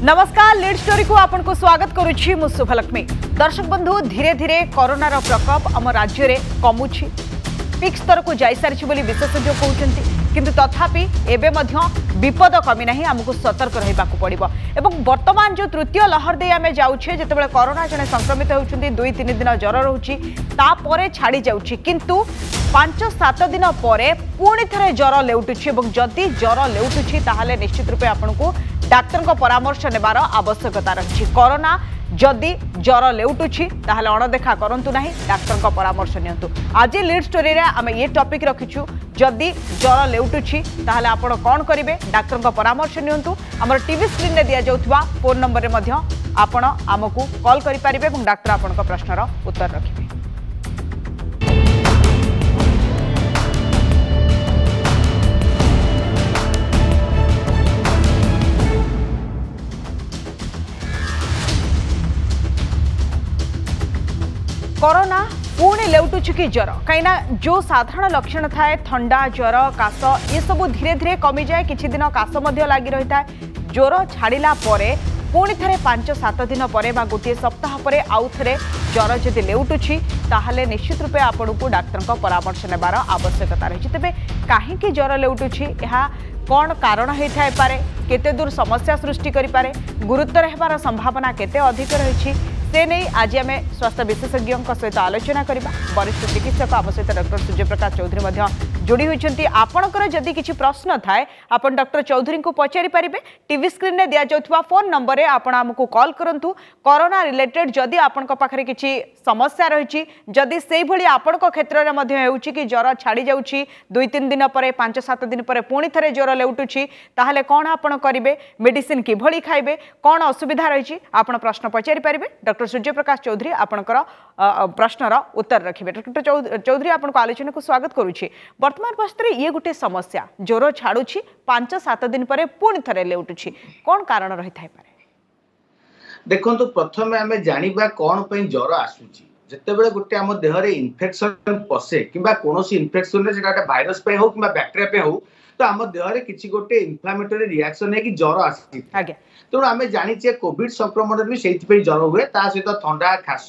नमस्कार, lead story को आपन को स्वागत करुछि मु शुभलक्ष्मी। दर्शक बंधु, धीरे धीरे कोरोनार प्रकोप आम राज्य रे कमुछि, पिक स्तर को जाई सारिछि बोली विशेषज्ञ कहउछन्ति, किंतु तथापि एबे मध्य विपद कमी नाही, आमको सतर्क रहिबाकू पड़िबो। एबं वर्तमान जो तृतीय लहर दे आमे जाउछे, जेतेबेले कोरोना जने संक्रमित होउछन्ति, 2-3 दिन ज्वर रहुछि, तापरे छाड़ी जाउछि, किंतु 5-7 दिन परे पुणी थरे ज्वर लेउटुछि। एबं जदि ज्वर लेउटुछि ताहले निश्चित रूपे आपनकु डाक्टरଙ୍କ परामर्श नेबार आवश्यकता रही। कोरोना जदि ज्वर लेउटुछि ताहले अणदेखा करन्तु नाही, डाक्टरଙ୍କ परामर्श नियंतु। आज लीड स्टोरी रे आमे ये टॉपिक रखिछु, जदि ज्वर लेउटुछि ताहले आपण कोन करिवे, डाक्टरଙ୍କ परामर्श नियंतु। हमर टीवी स्क्रीन रे दिया जाउतबा फोन नंबर रे मध्ये आपण आमकु कॉल करि परिबे एवं डाक्टर आपणक प्रश्नर उत्तर रखिबे। कोरोना पुणी लेउटुछि कि ज्वर, कहीं जो साधारण लक्षण थाए थंडा ज्वर काश ये सब धीरे धीरे कमी जाए, किछि दिन काश लागि रही है। ज्वर छाड़ा पुणी थे 5-7 दिन पर गोटे सप्ताह पर आउ थे ज्वर जदि लेउटुछि ताहले निश्चित रूपे आपणକୁ डाक्टरଙ୍କ परामर्श नेबार आवश्यकता रही। तेबे काहेकि ज्वर लेउटुछि, यहाँ कौन कारण होता पारे, केते दूर समस्या सृष्टि करिपारे, गुरुतर हेबार संभावना केते अधिक रही, से नहीं आज आम स्वास्थ्य विशेषज्ञ सहित आलोचना करवा। वरिष्ठ चिकित्सक आम सहित डॉक्टर सूर्य प्रकाश चौधरी मध्य जोड़ी होइछन्ति। आपणकर जदि किछि प्रश्न थाए आपण डॉक्टर चौधरी को पचारि परिबे। टीवी स्क्रीन रे दिया जाउतबा फोन नंबर रे आपण आमकु कॉल करंतु। कोरोना रिलेटेड जदि आपणक पाखरे किछि समस्या रहिछि, जदि सेई भली आपणक क्षेत्र रे मध्य हेउछि कि ज्वर छाड़ी जाउछि 2-3 दिन परे 5-7 दिन परे पुणी थरे ज्वर लेउटुछि, ताहले कोन आपण करिबे, मेडिसिन किभली खाइबे, कोन असुविधा रहिछि, आपण प्रश्न पचारि परिबे। डॉक्टर सूर्य प्रकाश चौधरी आपणकर प्रश्नर उत्तर रखिबे। डॉक्टर चौधरी आपणको आलोचना को स्वागत करुछि। वर्तमान परिस्थिति ये गोटे समस्या, ज्वर छाड़ुछि 5-7 दिन परे पुणी थरे लेउटुछि, कोन कारण रही थाई पारे? देखंतु, प्रथमे आमे जानिबा कोन पई ज्वर आसुछि। जेतेबेले गोटे आम देहरे इन्फेक्शन पसे किंबा कोनोसी इन्फेक्शन रे सेटा गोटे वायरस पई हो किंबा बैक्टीरिया पई हो, तो आम देहरे किछि गोटे इन्फ्लामेटरी रिएक्शन हे कि ज्वर आसी। तेणु आमे जानिछे कोविड संक्रमण भी सेइथिपई ज्वर हुए, ता सहित थंडा खास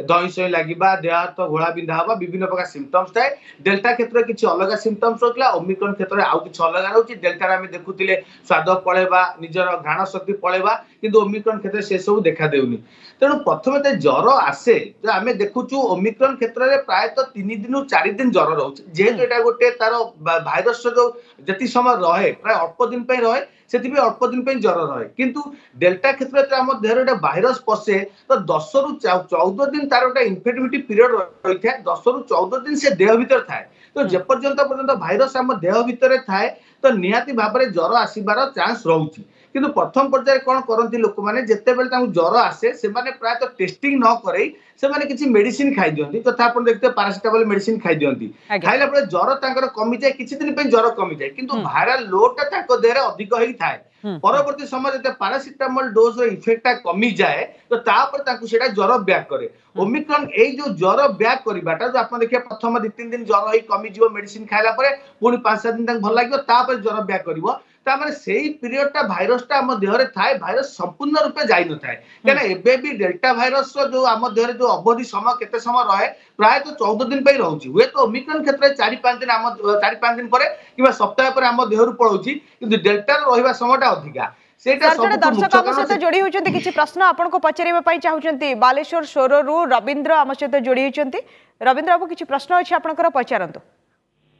दही सही लागिबा, देह हाथ घोड़ा बिंधा हवा, विभिन्न प्रकार सिम्पटम्स थाए। डेल्टा क्षेत्र किछि अलग सिम्पटम्स रहुला, ओमिक्रन क्षेत्र आउ किछि अलग रहउछि। डेल्टा रे आमे देखुतिले स्वाद पळेबा, निजर घ्राण शक्ति पळेबा, किंतु ओमिक्रन क्षेत्र से सब देखा देउनी। तेणु प्रथमे ते ज्वर आसे तो आमे देखुछु ओमिक्रन क्षेत्र रे प्रायत 3 दिन 4 दिन ज्वर रहउछि। जेहेतु एटा गोटे तार भाइरस जो जति समय रहे प्राय अल्प दिन पई रहे, सेतिपे अल्प दिन पई ज्वर रहे। किंतु डेल्टा क्षेत्र रे आम देहरे गोटे भाइरस पसे तो 10 रु 14 दिन तार गोटे इन्फेक्टिविटी पीरियड रही थाए, 10 रु 14 दिन से देह भितर थाए। तो जे पर्यंत पर्यंत भाइरस आम देह भितर थाए तो निहाती भाव में ज्वर आसीबार चांस रहुछि। किंतु प्रथम पर्याय कौन करती लोक माने, जेतेबेले तांकु ज्वर आसे सेमाने प्रायत टेस्टिंग न करई सेमाने किछि मेडिसिन खाई दियंती, तथा आपण देखते पैरासिटामोल मेडिसिन खाई दियंती। खाइला परे ज्वर तांकर कमी जाय, किछि दिन पई ज्वर कमी जाय, किंतु वायरल लोड टा तांको देहरे अधिक होई थाए। परवर्ती समय जते पैरासिटामोल डोज रो इफेक्ट कमी जाए तो तापर ताकु सेटा ज्वर बैक करे। ओमिक्रन एई जो ज्वर बैक करिबाटा जो आपण देखिए प्रथम 2-3 दिन ज्वर होई कमी जिवो मेडिसिन खाइला परे, पुणी 5-7 दिन तांकु भल लागिबो, तापर ज्वर बैक करिवो। ता माने सेई पीरियड टा भाइरस टा आम देहरे थाए, भाइरस संपूर्ण रूपे जाई न थाए। केना एबे भी डेल्टा भाइरस रो जो आम देहरे जो अवधि समय केते समय रहे प्राय तो 14 दिन पई रहउछि। हुए तो ओमिक्रन क्षेत्र 4-5 दिन आम 4-5 दिन परे किबा सप्ताह परे आम देहरु पळउछि, किंतु डेल्टा रो रहिबा समयटा अधिका। सेटा सब दर्शक आम सहित जोड़ी होइछन्ति, किछि प्रश्न आपनको पचारिबा पई चाहुछन्ति। बालेश्वर सोररु रविंद्र आम सहित जोड़ी होइछन्ति। रविंद्र बाबू, किछि प्रश्न अछि आपनकर, पचारंतु।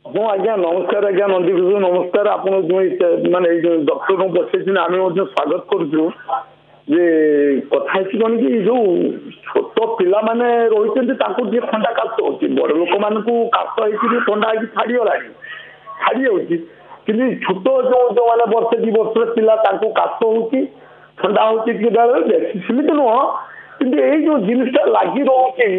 ହଁ ଆଜ୍ଞା ନମସ୍କାର, ଆଜ୍ଞା ନନ୍ଦୀକିଶୋର ନମସ୍କାର। ଆପଣ ଯେଉଁ ମାନେ ଏଇ ଯୋଉ ଡକ୍ଟରଙ୍କୁ ବସେଇଛନ୍ତି ଆମେ ମଧ୍ୟ ସ୍ୱାଗତ କରୁଛୁ। ଯେ କଥା ହେଇଛି କଣ କି, ଯୋଉ ଛୋଟ ପିଲାମାନେ ରହିଛନ୍ତି ତାଙ୍କୁ ଟିକେ ଥଣ୍ଡା କାଶ ହଉଛି, ବଡ ଲୋକମାନଙ୍କୁ କାଶ ହେଇକିରି ଥଣ୍ଡା ହେଇକି ଛାଡିଗଲାଣି, ଛାଡି ଯାଉଛି, କିନ୍ତୁ ଛୋଟ ଯୋଉ ଯୋଉମାନେ ବର୍ଷେ 2 ବର୍ଷର ପିଲା ତାଙ୍କୁ କାଶ ହଉଛି, ଥଣ୍ଡା ହଉଛି ଟିକେ ବେଳେ, ବେଶୀ ସେମିତି ନୁହଁ, କିନ୍ତୁ ଏଇ ଯୋଉ ଜିନିଷଟା ଲାଗି ରହୁଛି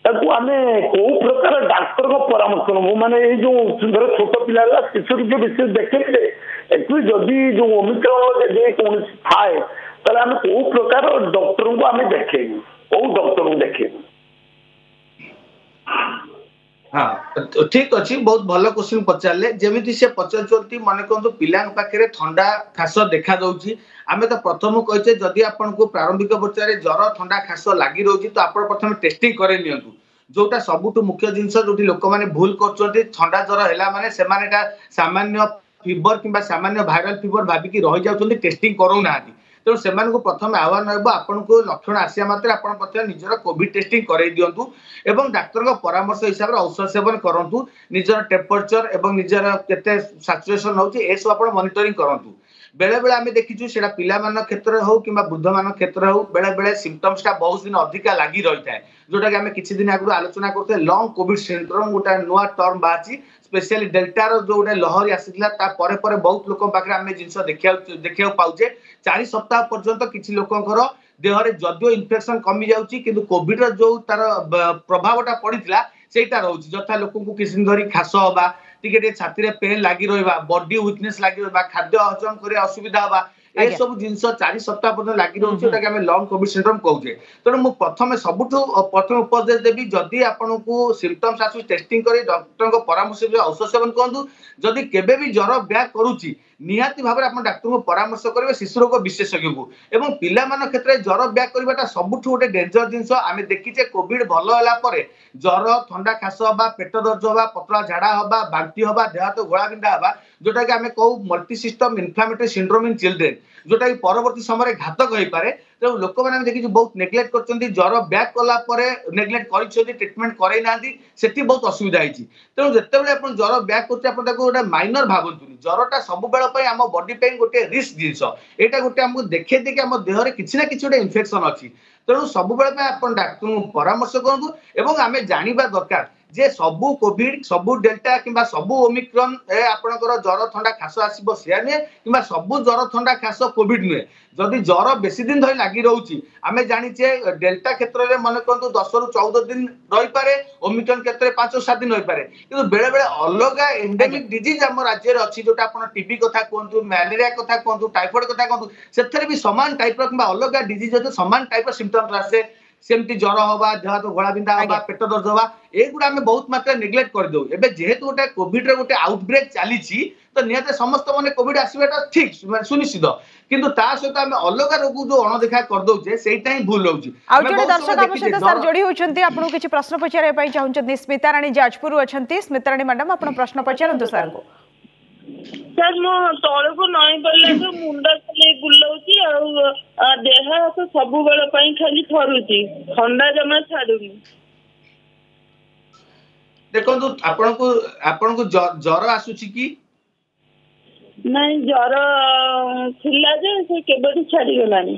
ତାକୁ ଆମେ କୋଉ ପ୍ରକାର ଡାକ୍ତରଙ୍କ ପରାମର୍ଶ ନେବୁ? ମାନେ ଏଇ ଯୋଉ ଧର ଛୋଟ ପିଲା ହେଲା, ଶିଶୁ ରୋଗ ବେଶୀ ଦେଖିଲେ ଆକ୍ଚୁଆଲି ଯଦି ଯୋଉ ଓମିକ୍ରନ ଯଦି କୌଣସି ଥାଏ ତାହେଲେ ଆମେ କୋଉ ପ୍ରକାର ଡକ୍ଟରଙ୍କୁ ଆମେ ଦେଖେଇବୁ, କୋଉ ଡକ୍ଟରଙ୍କୁ ଦେଖେଇବୁ? ହଁ, ଠିକ ଅଛି, ବହୁତ ଭଲ କ୍ୱେଶ୍ଚିନ୍ ପଚାରିଲେ। ଯେମିତି ସେ ପଚାରୁଛନ୍ତି, ମନେ କରନ୍ତୁ ପିଲାଙ୍କ ପାଖରେ ଥଣ୍ଡା ଖାସ ଦେଖା ଦଉଛି। ଆମେ ତ ପ୍ରଥମ କହିଛେ, ଯଦି ଆପଣଙ୍କୁ ପ୍ରାରମ୍ଭିକ ପର୍ଯ୍ୟାୟରେ ଜର, ଥଣ୍ଡା, ଖାସ ଲାଗି ରହୁଛି, ତ ଆପଣ ପ୍ରଥମେ ଟେଷ୍ଟିଂ କରେଇ ନିଅନ୍ତୁ। ଯୋଉଟା ସବୁଠୁ ମୁଖ୍ୟ ଜିନିଷ ଯୋଉଠି ଲୋକମାନେ ଭୁଲ କରୁଛନ୍ତି, ଥଣ୍ଡା ଜର ହେଲା ମାନେ ସେମାନେ ଏଟା ସାମାନ୍ୟ ଫିଭର କିମ୍ବା ସାମାନ୍ୟ ଭାଇରାଲ ଫିଭର ଭାବିକି ରହିଯାଉଛନ୍ତି, ଟେଷ୍ଟିଂ କରଉନାହାନ୍ତି। ତେଣୁ ସେମାନଙ୍କୁ ପ୍ରଥମେ ଆହ୍ୱାନ ରହିବ, ଆପଣଙ୍କୁ ଲକ୍ଷଣ ଆସିବା ମାତ୍ରେ ଆପଣ ପ୍ରଥମେ ନିଜର କୋଭିଡ ଟେଷ୍ଟିଂ କରେଇ ଦିଅନ୍ତୁ ଏବଂ ଡାକ୍ତରଙ୍କ ପରାମର୍ଶ ହିସାବରେ ଔଷଧ ସେବନ କରନ୍ତୁ। ନିଜର ଟେମ୍ପରେଚର ଏବଂ ନିଜର କେତେ ସାଚୁରେସନ ହଉଛି, ଏସବୁ ଆପଣ ମନିଟରିଂ କରନ୍ତୁ। ବେଳେ ବେଳେ ଆମେ ଦେଖିଛୁ, ସେଇଟା ପିଲାମାନଙ୍କ କ୍ଷେତ୍ରରେ ହଉ କିମ୍ବା ବୃଦ୍ଧମାନଙ୍କ କ୍ଷେତ୍ରରେ ହଉ, ବେଳେ ବେଳେ ସିମ୍ପଟମ୍ସଟା ବହୁତ ଦିନ ଅଧିକା ଲାଗି ରହିଥାଏ, ଯୋଉଟାକି ଆମେ କିଛି ଦିନ ଆଗରୁ ଆଲୋଚନା କରୁଥିଲେ। ଲଙ୍ଗ କୋଭିଡ ସିଣ୍ଡ୍ରୋମ ଗୋଟେ ନୂଆ ଟର୍ମ ବାହାରିଛି। ସ୍ପେଶିଆଲି ଡେଲ୍ଟାର ଯୋଉ ଗୋଟେ ଲହରୀ ଆସିଥିଲା, ତା ପରେ ପରେ ବହୁତ ଲୋକଙ୍କ ପାଖରେ ଆମେ ଜିନିଷ ଦେଖିବାକୁ ପାଉଛେ। 4 ସପ୍ତାହ ପର୍ଯ୍ୟନ୍ତ କିଛି ଲୋକଙ୍କର ଦେହରେ ଯଦିଓ ଇନଫେକ୍ସନ କମି ଯାଉଛି, କିନ୍ତୁ କୋଭିଡ ର ଯୋଉ ତାର ପ୍ରଭାବଟା ପଡିଥିଲା ସେଇଟା ରହୁଛି। ଯଥା ଲୋକଙ୍କୁ କିଛି ଦିନ ଧରି ଖାସ ହବା, ଟିକେ ଟିକେ ଛାତିରେ ପେନ୍ ଲାଗି ରହିବା, ବଡି ୱିକନେସ ଲାଗି ରହିବା, ଖାଦ୍ୟ ହଜମ କରିବା ଅସୁବିଧା ହବା, ଏସବୁ ଜିନିଷ 4 ସପ୍ତାହ ପର୍ଯ୍ୟନ୍ତ ଲାଗି ରହୁଛି, ଯୋଉଟାକି ଆମେ ଲଙ୍ଗ କୋଭିଡ ସିଣ୍ଡ୍ରୋମ କହୁଛେ। ତେଣୁ ମୁଁ ପ୍ରଥମେ ସବୁଠୁ ପ୍ରଥମେ ଉପଦେଶ ଦେବି, ଯଦି ଆପଣଙ୍କୁ ସିମ୍ପଟମ୍ସ ଆସୁଛି, ଟେଷ୍ଟିଂ କରି ଡକ୍ଟରଙ୍କ ପରାମର୍ଶ ଔଷଧ ସେବନ କରନ୍ତୁ। ଯଦି କେବେ ବି ଜର ବ୍ୟାକ୍ କରୁଛି, ନିହାତି ଭାବରେ ଆପଣ ଡାକ୍ତରଙ୍କୁ ପରାମର୍ଶ କରିବେ, ଶିଶୁ ରୋଗ ବିଶେଷଜ୍ଞଙ୍କୁ। ଏବଂ ପିଲାମାନଙ୍କ କ୍ଷେତ୍ରରେ ଜର ବ୍ୟାକ୍ କରିବାଟା ସବୁଠୁ ଗୋଟେ ଡେଞ୍ଜର ଜିନିଷ। ଆମେ ଦେଖିଛେ, କୋଭିଡ ଭଲ ହେଲା ପରେ ଜର, ଥଣ୍ଡା, ଖାସ ହବା, ପେଟ ଦରଜ ହବା, ପତଳା ଝାଡା ହବା, ବାନ୍ତି ହବା, ଦେହ ହାତ ଘୋଳା ବିନ୍ଧା ହବା, ଯୋଉଟା କି ଆମେ କହୁ multi system inflammatory syndrome in children, ଯୋଉଟା କି ପରବର୍ତ୍ତୀ ସମୟରେ ଘାତକ ହେଇପାରେ। ତେଣୁ ଲୋକମାନେ ଆମେ ଦେଖିଛୁ ବହୁତ ନେଗ୍ଲେକ୍ଟ କରୁଛନ୍ତି। ଜର ବ୍ୟାକ୍ କଲା ପରେ ନେଗ୍ଲେକ୍ଟ କରିଛନ୍ତି, ଟ୍ରିଟମେଣ୍ଟ କରେଇ ନାହାନ୍ତି, ସେଠି ବହୁତ ଅସୁବିଧା ହେଇଛି। ତେଣୁ ଯେତେବେଳେ ଆପଣ ଜର ବ୍ୟାକ୍ କରୁଛି, ଆପଣ ତାକୁ ଗୋଟେ ମାଇନର ଭାବନ୍ତୁନି। ଜରଟା ସବୁବେଳ ପାଇଁ ଆମ ବଡି ପାଇଁ ଗୋଟେ ରିସ୍କ ଜିନିଷ। ଏଇଟା ଗୋଟେ ଆମକୁ ଦେଖେଇ ଦେଇକି ଆମ ଦେହରେ କିଛି ନା କିଛି ଗୋଟେ ଇନଫେକ୍ସନ ଅଛି। ତେଣୁ ସବୁବେଳେ ପାଇଁ ଆପଣ ଡାକ୍ତରଙ୍କୁ ପରାମର୍ଶ କରନ୍ତୁ। ଏବଂ ଆମେ ଜାଣିବା ଦରକାର ଯେ ସବୁ କୋଭିଡ, ସବୁ ଡେଲ୍ଟା କିମ୍ବା ସବୁ ଓମିକ୍ରନ ଏ ଆପଣଙ୍କର ଜର, ଥଣ୍ଡା, ଖାସ ଆସିବ ସେୟା ନୁହେଁ, କିମ୍ବା ସବୁ ଜର, ଥଣ୍ଡା, ଖାସ କୋଭିଡ ନୁହେଁ। ଯଦି ଜର ବେଶୀ ଦିନ ଧରି ଲାଗି ରହୁଛି, ଆମେ ଜାଣିଛେ ଡେଲ୍ଟା କ୍ଷେତ୍ରରେ ମନେ କରନ୍ତୁ 10ରୁ 14 ଦିନ ରହିପାରେ, ଓମିକ୍ରନ କ୍ଷେତ୍ରରେ 5-7 ଦିନ ରହିପାରେ। କିନ୍ତୁ ବେଳେ ବେଳେ ଅଲଗା ଏଣ୍ଡେମିକ ଡିଜିଜ ଆମ ରାଜ୍ୟରେ ଅଛି, ଯୋଉଟା ଆପଣ ଟିବି କଥା କୁହନ୍ତୁ, ମ୍ୟାଲେରିଆ କଥା କୁହନ୍ତୁ, ଟାଇଫଏଡ କଥା କୁହନ୍ତୁ, ସେଥିରେ ବି ସମାନ ଟାଇପର କିମ୍ବା ଅଲଗା ଡିଜିଜ ଅଛି, ସମାନ ଟାଇପର ସିମ୍ପଟମ୍ସ ଆସେ। ସେମିତି ଜର ହବା, ଦେହ ହାତ ଘୋଳା ବିନ୍ଧା ହବା, ପେଟ ଦରଜ ହବା, ଏଗୁଡ଼ା ଆମେ ବହୁତ ମାତ୍ରାରେ ନେଗ୍ଲେକ୍ଟ କରିଦଉ। ଏବେ ଯେହେତୁ ଗୋଟେ କୋଭିଡ ର ଗୋଟେ ଆଉଟବ୍ରେକ୍ ଚାଲିଛି, ତ ନିହାତି ସମସ୍ତ ମାନେ କୋଭିଡ ଆସିବାଟା ଠିକ, ମାନେ ସୁନିଶ୍ଚିତ। କିନ୍ତୁ ତା ସହିତ ଆମେ ଅଲଗା ରୋଗକୁ ଯୋଉ ଅଣଦେଖା କରିଦଉଛେ, ସେଇଟା ହିଁ ଭୁଲ ରହୁଛି। ଆଉ ଜଣେ ଦର୍ଶକ ଆମ ସହିତ ସାର୍ ଯୋଡ଼ି ହେଉଛନ୍ତି, ଆପଣଙ୍କୁ କିଛି ପ୍ରଶ୍ନ ପଚାରିବା ପାଇଁ ଚାହୁଁଛନ୍ତି। ସ୍ମିତାରାଣୀ ଯାଜପୁରରୁ ଅଛନ୍ତି। ସ୍ମିତାରାଣୀ ମ୍ୟାଡାମ, ଆପଣ ପ୍ରଶ୍ନ ପଚାରନ୍ତୁ ସାର୍ଙ୍କୁ। ସାର୍, ମୁଁ ତଳକୁ ନଇଁ ପଡ଼ିଲାଠୁ ମୁଣ୍ଡ ଖାଲି ବୁଲଉଛି ଆଉ ଦେହ ହାତ ସବୁବେଳ ପାଇଁ ଖାଲି ଥରୁଛି। ଥଣ୍ଡା ଜମା ଛାଡୁନି। ଦେଖନ୍ତୁ, ଆପଣଙ୍କୁ ଆପଣଙ୍କୁ ଜର ଆସୁଛି କି? ନାଇଁ, ଜର ଥିଲା ଯେ ସେ କେବେଠୁ ଛାଡିଗଲାଣି।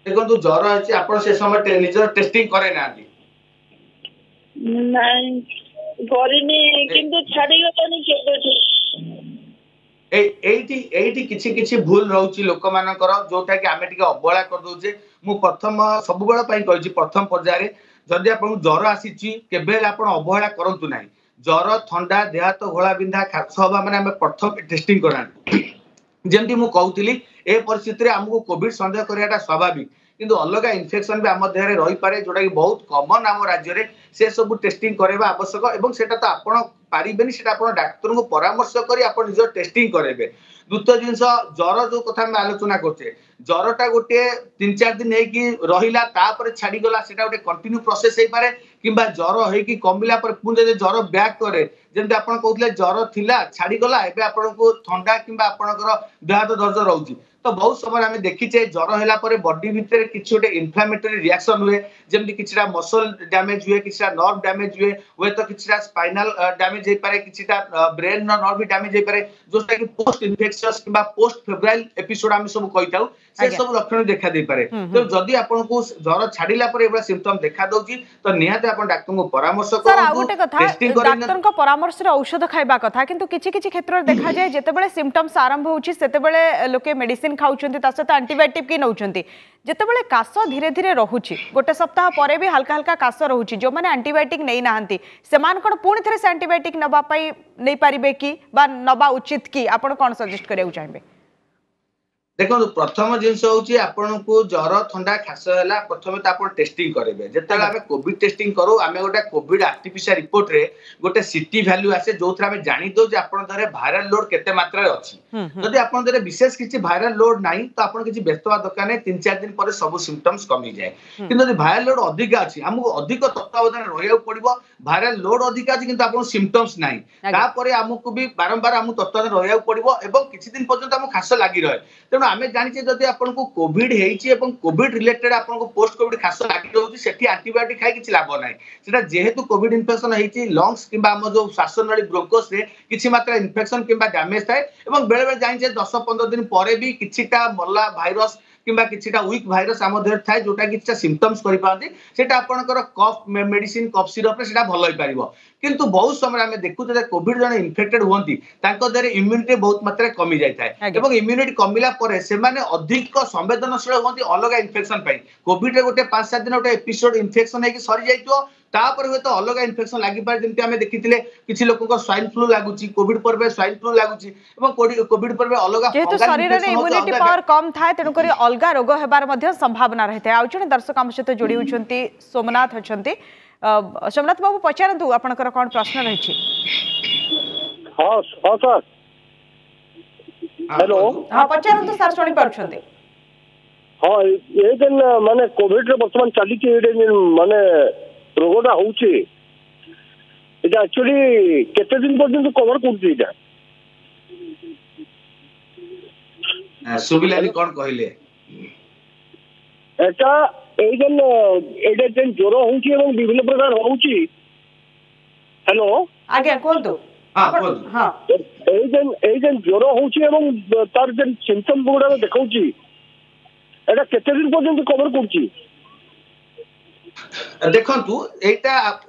ଦେଖନ୍ତୁ, ଜର ଅଛି, ଆପଣ ସେ ସମୟ ନିଜର ଟେଷ୍ଟିଂ କରେଇ ନାହାନ୍ତି? ନାଇଁ, କରିନି, କିନ୍ତୁ ଛାଡିଗଲାଣି କେବେଠୁ। ଏଇଠି କିଛି କିଛି ଭୁଲ ରହୁଛି ଲୋକମାନଙ୍କର, ଯୋଉଟା କି ଆମେ ଟିକେ ଅବହେଳା କରିଦଉଛେ। ମୁଁ ପ୍ରଥମ ସବୁବେଳ ପାଇଁ କହିଛି, ପ୍ରଥମ ପର୍ଯ୍ୟାୟରେ ଯଦି ଆପଣଙ୍କୁ ଜର ଆସିଛି, କେବେ ହେଲେ ଆପଣ ଅବହେଳା କରନ୍ତୁ ନାହିଁ। ଜର, ଥଣ୍ଡା, ଦେହ ହାତ ଘୋଳା ବିନ୍ଧା, ଖାସ ହବା ମାନେ ଆମେ ପ୍ରଥମେ ଟେଷ୍ଟିଂ କରାନ୍ତୁ। ଯେମିତି ମୁଁ କହୁଥିଲି, ଏ ପରିସ୍ଥିତିରେ ଆମକୁ କୋଭିଡ ସନ୍ଦେହ କରିବାଟା ସ୍ୱାଭାବିକ, କିନ୍ତୁ ଅଲଗା ଇନଫେକ୍ସନ ବି ଆମ ଦେହରେ ରହିପାରେ, ଯୋଉଟା କି ବହୁତ କମନ ଆମ ରାଜ୍ୟରେ। ସେ ସବୁ ଟେଷ୍ଟିଂ କରାଇବା ଆବଶ୍ୟକ। ଏବଂ ସେଟା ତ ଆପଣ ପାରିବେନି, ସେଟା ଆପଣ ଡାକ୍ତରଙ୍କୁ ପରାମର୍ଶ କରି ଆପଣ ନିଜ ଟେଷ୍ଟିଂ କରାଇବେ। ଦ୍ୱିତୀୟ ଜିନିଷ, ଜର ଯୋଉ କଥା ଆମେ ଆଲୋଚନା କରୁଛେ, ଜରଟା ଗୋଟିଏ 3-4 ଦିନ ହେଇକି ରହିଲା, ତାପରେ ଛାଡିଗଲା, ସେଟା ଗୋଟେ କଣ୍ଟିନ୍ୟୁ ପ୍ରୋସେସ ହେଇପାରେ। କିମ୍ବା ଜର ହେଇକି କମିଲା ପରେ ପୁଣି ଯଦି ଜର ବ୍ୟାକ୍ କରେ, ଯେମିତି ଆପଣ କହୁଥିଲେ ଜର ଥିଲା, ଛାଡିଗଲା, ଏବେ ଆପଣଙ୍କୁ ଥଣ୍ଡା କିମ୍ବା ଆପଣଙ୍କର ଦେହ ହାତ ଦରଜ ରହୁଛି, ତ ବହୁତ ସମୟରେ ଆମେ ଦେଖିଛେ ଜର ହେଲା ପରେ ବଡି ଭିତରେ କିଛି ଗୋଟେ ଇନଫ୍ଲାମେଟୋରୀ ରିଆକ୍ସନ ହୁଏ। ଯେମିତି କିଛିଟା ମସଲ ଡ୍ୟାମେଜ ହୁଏ, କିଛିଟା ନର୍ଭ ଡ୍ୟାମେଜ ହୁଏ, ହୁଏତ କିଛିଟା ସ୍ପାଇନାଲ ଡ୍ୟାମେଜ ହେଇପାରେ, କିଛିଟା ବ୍ରେନ ର ନର୍ଭ ବି ଡ୍ୟାମେଜ ହେଇପାରେ, ଯୋଉଟା କି ପୋଷ୍ଟ ଇନଫେକ୍ସସ୍ କିମ୍ବା ପୋଷ୍ଟ ଫେବ୍ରାଇଲ ଏପିସୋଡ ଆମେ ସବୁ କହିଥାଉ, ସେ ସବୁ ଲକ୍ଷଣ ଦେଖା ଦେଇପାରେ। ତେଣୁ ଯଦି ଆପଣଙ୍କୁ ଜର ଛାଡିଲା ପରେ ଏଭଳିଆ ସିମ୍ପଟମ ଦେଖା ଦଉଛି, ତ ନିହାତି ଆପଣ ଡାକ୍ତରଙ୍କୁ ପରାମର୍ଶ କରନ୍ତୁ, ଟେଷ୍ଟିଂ। ଡାକ୍ତରଙ୍କ ପରାମର୍ଶରେ ଔଷଧ ଖାଇବା କଥା, କିନ୍ତୁ କିଛି କିଛି କ୍ଷେତ୍ରରେ ଦେଖାଯାଏ ଯେତେବେଳେ ସିମ୍ପଟମ୍ସ ଆରମ୍ଭ ହେଉଛି, ସେତେବେଳେ ଲୋକେ ମେଡିସିନ ଖାଉଛନ୍ତି, ତା ସହିତ ଆଣ୍ଟିବାୟୋଟିକ୍ ବି ନେଉଛନ୍ତି। ଯେତେବେଳେ କାଶ ଧୀରେ ଧୀରେ ରହୁଛି, ଗୋଟେ ସପ୍ତାହ ପରେ ବି ହାଲକା ହାଲକା କାଶ ରହୁଛି, ଯେଉଁମାନେ ଆଣ୍ଟିବାୟୋଟିକ୍ ନେଇନାହାନ୍ତି, ସେମାନେ କ'ଣ ପୁଣି ଥରେ ସେ ଆଣ୍ଟିବାୟୋଟିକ୍ ନେବା ପାଇଁ ନେଇପାରିବେ କି ବା ନେବା ଉଚିତ କି? ଆପଣ କ'ଣ ସଜେଷ୍ଟ କରିବାକୁ ଚାହିଁବେ? ଦେଖନ୍ତୁ, ପ୍ରଥମ ଜିନିଷ ହଉଛି ଆପଣଙ୍କୁ ଜର, ଥଣ୍ଡା, ଖାସ ହେଲା, ପ୍ରଥମେ ତ ଆପଣ ଟେଷ୍ଟିଂ କରିବେ। ଯେତେବେଳେ ଆମେ କୋଭିଡ ଟେଷ୍ଟିଂ କରୁ, ଆମେ ଗୋଟେ କୋଭିଡ ଆରଟିପିସିଆର ରିପୋର୍ଟରେ ଗୋଟେ ସିଟି ଭ୍ୟାଲ୍ୟୁ ଆସେ, ଯୋଉଥିରେ ଆମେ ଜାଣିଦଉ ଯେ ଆପଣଙ୍କ ଦେହରେ ଭାଇରାଲ ଲୋଡ କେତେ ମାତ୍ରାରେ ଅଛି। ଯଦି ଆପଣଙ୍କ ଦେହରେ ବିଶେଷ କିଛି ଭାଇରାଲ ଲୋଡ ନାହିଁ, ତ ଆପଣ କିଛି ବ୍ୟସ୍ତ ହେବା ଦରକାର ନାହିଁ। 3-4 ଦିନ ପରେ ସବୁ ସିମ୍ପଟମ୍ସ କମିଯାଏ। କିନ୍ତୁ ଯଦି ଭାଇରାଲ ଲୋଡ ଅଧିକା ଅଛି, ଆମକୁ ଅଧିକ ତତ୍ତ୍ୱାବଧାନରେ ରହିବାକୁ ପଡିବ। ଭାଇରାଲ ଲୋଡ ଅଧିକା ଅଛି କିନ୍ତୁ ଆପଣଙ୍କୁ ସିମ୍ପଟମ୍ସ ନାହିଁ, ତାପରେ ଆମକୁ ବି ବାରମ୍ବାର ଆମକୁ ତତ୍ତ୍ୱାବଧାନରେ ରହିବାକୁ ପଡିବ ଏବଂ କିଛି ଦିନ ପର୍ଯ୍ୟନ୍ତ ଆମକୁ ଖାସ ଲାଗି ରହେ। ତେଣୁ ଆମେ ଜାଣିଛେ, ଯଦି ଆପଣଙ୍କୁ କୋଭିଡ ହେଇଛି ଏବଂ କୋଭିଡ ରିଲେଟେଡ ଆପଣଙ୍କୁ ପୋଷ୍ଟ କୋଭିଡ ଖାସ ଲାଗି ରହୁଛି, ସେଠି ଆଣ୍ଟିବାୟୋଟିକ ଖାଇ କିଛି ଲାଭ ନାହିଁ। ସେଟା ଯେହେତୁ କୋଭିଡ ଇନଫେକ୍ସନ ହେଇଛି, ଲଙ୍ଗସ କିମ୍ବା ଆମ ଯୋଉ ଶ୍ୱାସନଳୀ ବ୍ରୋଙ୍କସରେ କିଛି ମାତ୍ରା ଇନଫେକ୍ସନ କିମ୍ବା ଡ୍ୟାମେଜ ଥାଏ ଏବଂ ବେଳେ ବେଳେ ଜାଣିଛେ 10-15 ଦିନ ପରେ ବି କିଛିଟା ମଲା ଭାଇରସ କିମ୍ବା କିଛିଟା ୱିକ୍ ଭାଇରସ ଆମ ଦେହରେ ଥାଏ, ଯୋଉଟା କିଛିଟା ସିମ୍ପଟମ୍ସ କରିପାରନ୍ତି। ସେଟା ଆପଣଙ୍କର କଫ୍ ମେଡିସିନ, କଫ୍ ସିରପରେ ସେଟା ଭଲ ହେଇପାରିବ। କିନ୍ତୁ ବହୁତ ସମୟରେ ଆମେ ଦେଖୁଛୁ ଯେ କୋଭିଡ ଜଣେ ଇନଫେକ୍ଟେଡ ହୁଅନ୍ତି, ତାଙ୍କ ଦେହରେ ଇମ୍ୟୁନିଟି ବହୁତ ମାତ୍ରାରେ କମି ଯାଇଥାଏ ଏବଂ ଇମ୍ୟୁନିଟି କମିଲା ପରେ ସେମାନେ ଅଧିକ ସମ୍ବେଦନଶୀଳ ହୁଅନ୍ତି ଅଲଗା ଇନଫେକ୍ସନ ପାଇଁ। କୋଭିଡରେ ଗୋଟେ 5-7 ଦିନ ଗୋଟେ ଏପିସୋଡ ଇନଫେକ୍ସନ ହେଇକି ସରିଯାଇଥିବ, ତାପରେ ହୁଏତ ଅଲଗା ଇନଫେକ୍ସନ ଲାଗିପାରେ। ଯେମିତି ଆମେ ଦେଖିଥିଲେ କିଛି ଲୋକଙ୍କ ସ୍ୱାଇନ୍ ଫ୍ଲୁ ଲାଗୁଛି, କୋଭିଡ ପରେ ସ୍ୱାଇନ୍ ଫ୍ଲୁ ଲାଗୁଛି ଏବଂ କୋଭିଡ ପରେ ଅଲଗା ଯେହେତୁ ଶରୀରରେ ଇମ୍ୟୁନିଟି ପାୱାର କମ ଥାଏ, ତେଣୁକରି ଅଲଗା ରୋଗ ହେବାର ମଧ୍ୟ ସମ୍ଭାବନା ରହିଥାଏ। ଆଉ ଜଣେ ଦର୍ଶକ ଆମ ସହିତ ଯୋଡ଼ି ହେଉଛନ୍ତି, ସୋମନାଥ ଅଛନ୍ତି। ସୋମନାଥ ବାବୁ, ପଚାରନ୍ତୁ, ଆପଣଙ୍କର କ'ଣ ପ୍ରଶ୍ନ ରହିଛି? ହଁ ହଁ ସାର୍, ହ୍ୟାଲୋ। ହଁ, ପଚାରନ୍ତୁ ସାର୍, ଶୁଣି ପାରୁଛନ୍ତି। ହଁ, ଏ ଯେନ୍ ମାନେ କୋଭିଡରେ ବର୍ତ୍ତମାନ ଚାଲିଛି, ଏଇଟା ମାନେ ରୋଗଟା ହଉଛି, ଏଇଟା ଆକ୍ଚୁଆଲି କେତେ ଦିନ ପର୍ଯ୍ୟନ୍ତ କଭର କରୁଛି ଏଇଟା? ଶୁଭିଲାନି, କଣ କହିଲେ? ଏଟା ଏଇ ଯେନ୍ ଏଇଟା ଯେନ୍ ଜ୍ୱର ହଉଛି ଏବଂ ବିଭିନ୍ନ ପ୍ରକାର ହଉଛି। ହ୍ୟାଲୋ। ଆଜ୍ଞା, କୁହନ୍ତୁ। ହଁ, ଏଇ ଯେନ୍ ଜ୍ୱର ହଉଛି ଏବଂ ତାର ଯେନ୍ ସିମ୍ପଟମ ଗୁଡାକ ଦେଖାଉଛି, ଏଟା କେତେ ଦିନ ପର୍ଯ୍ୟନ୍ତ କଭର କରୁଛି? ଦେଖନ୍ତୁ, ଏଇଟା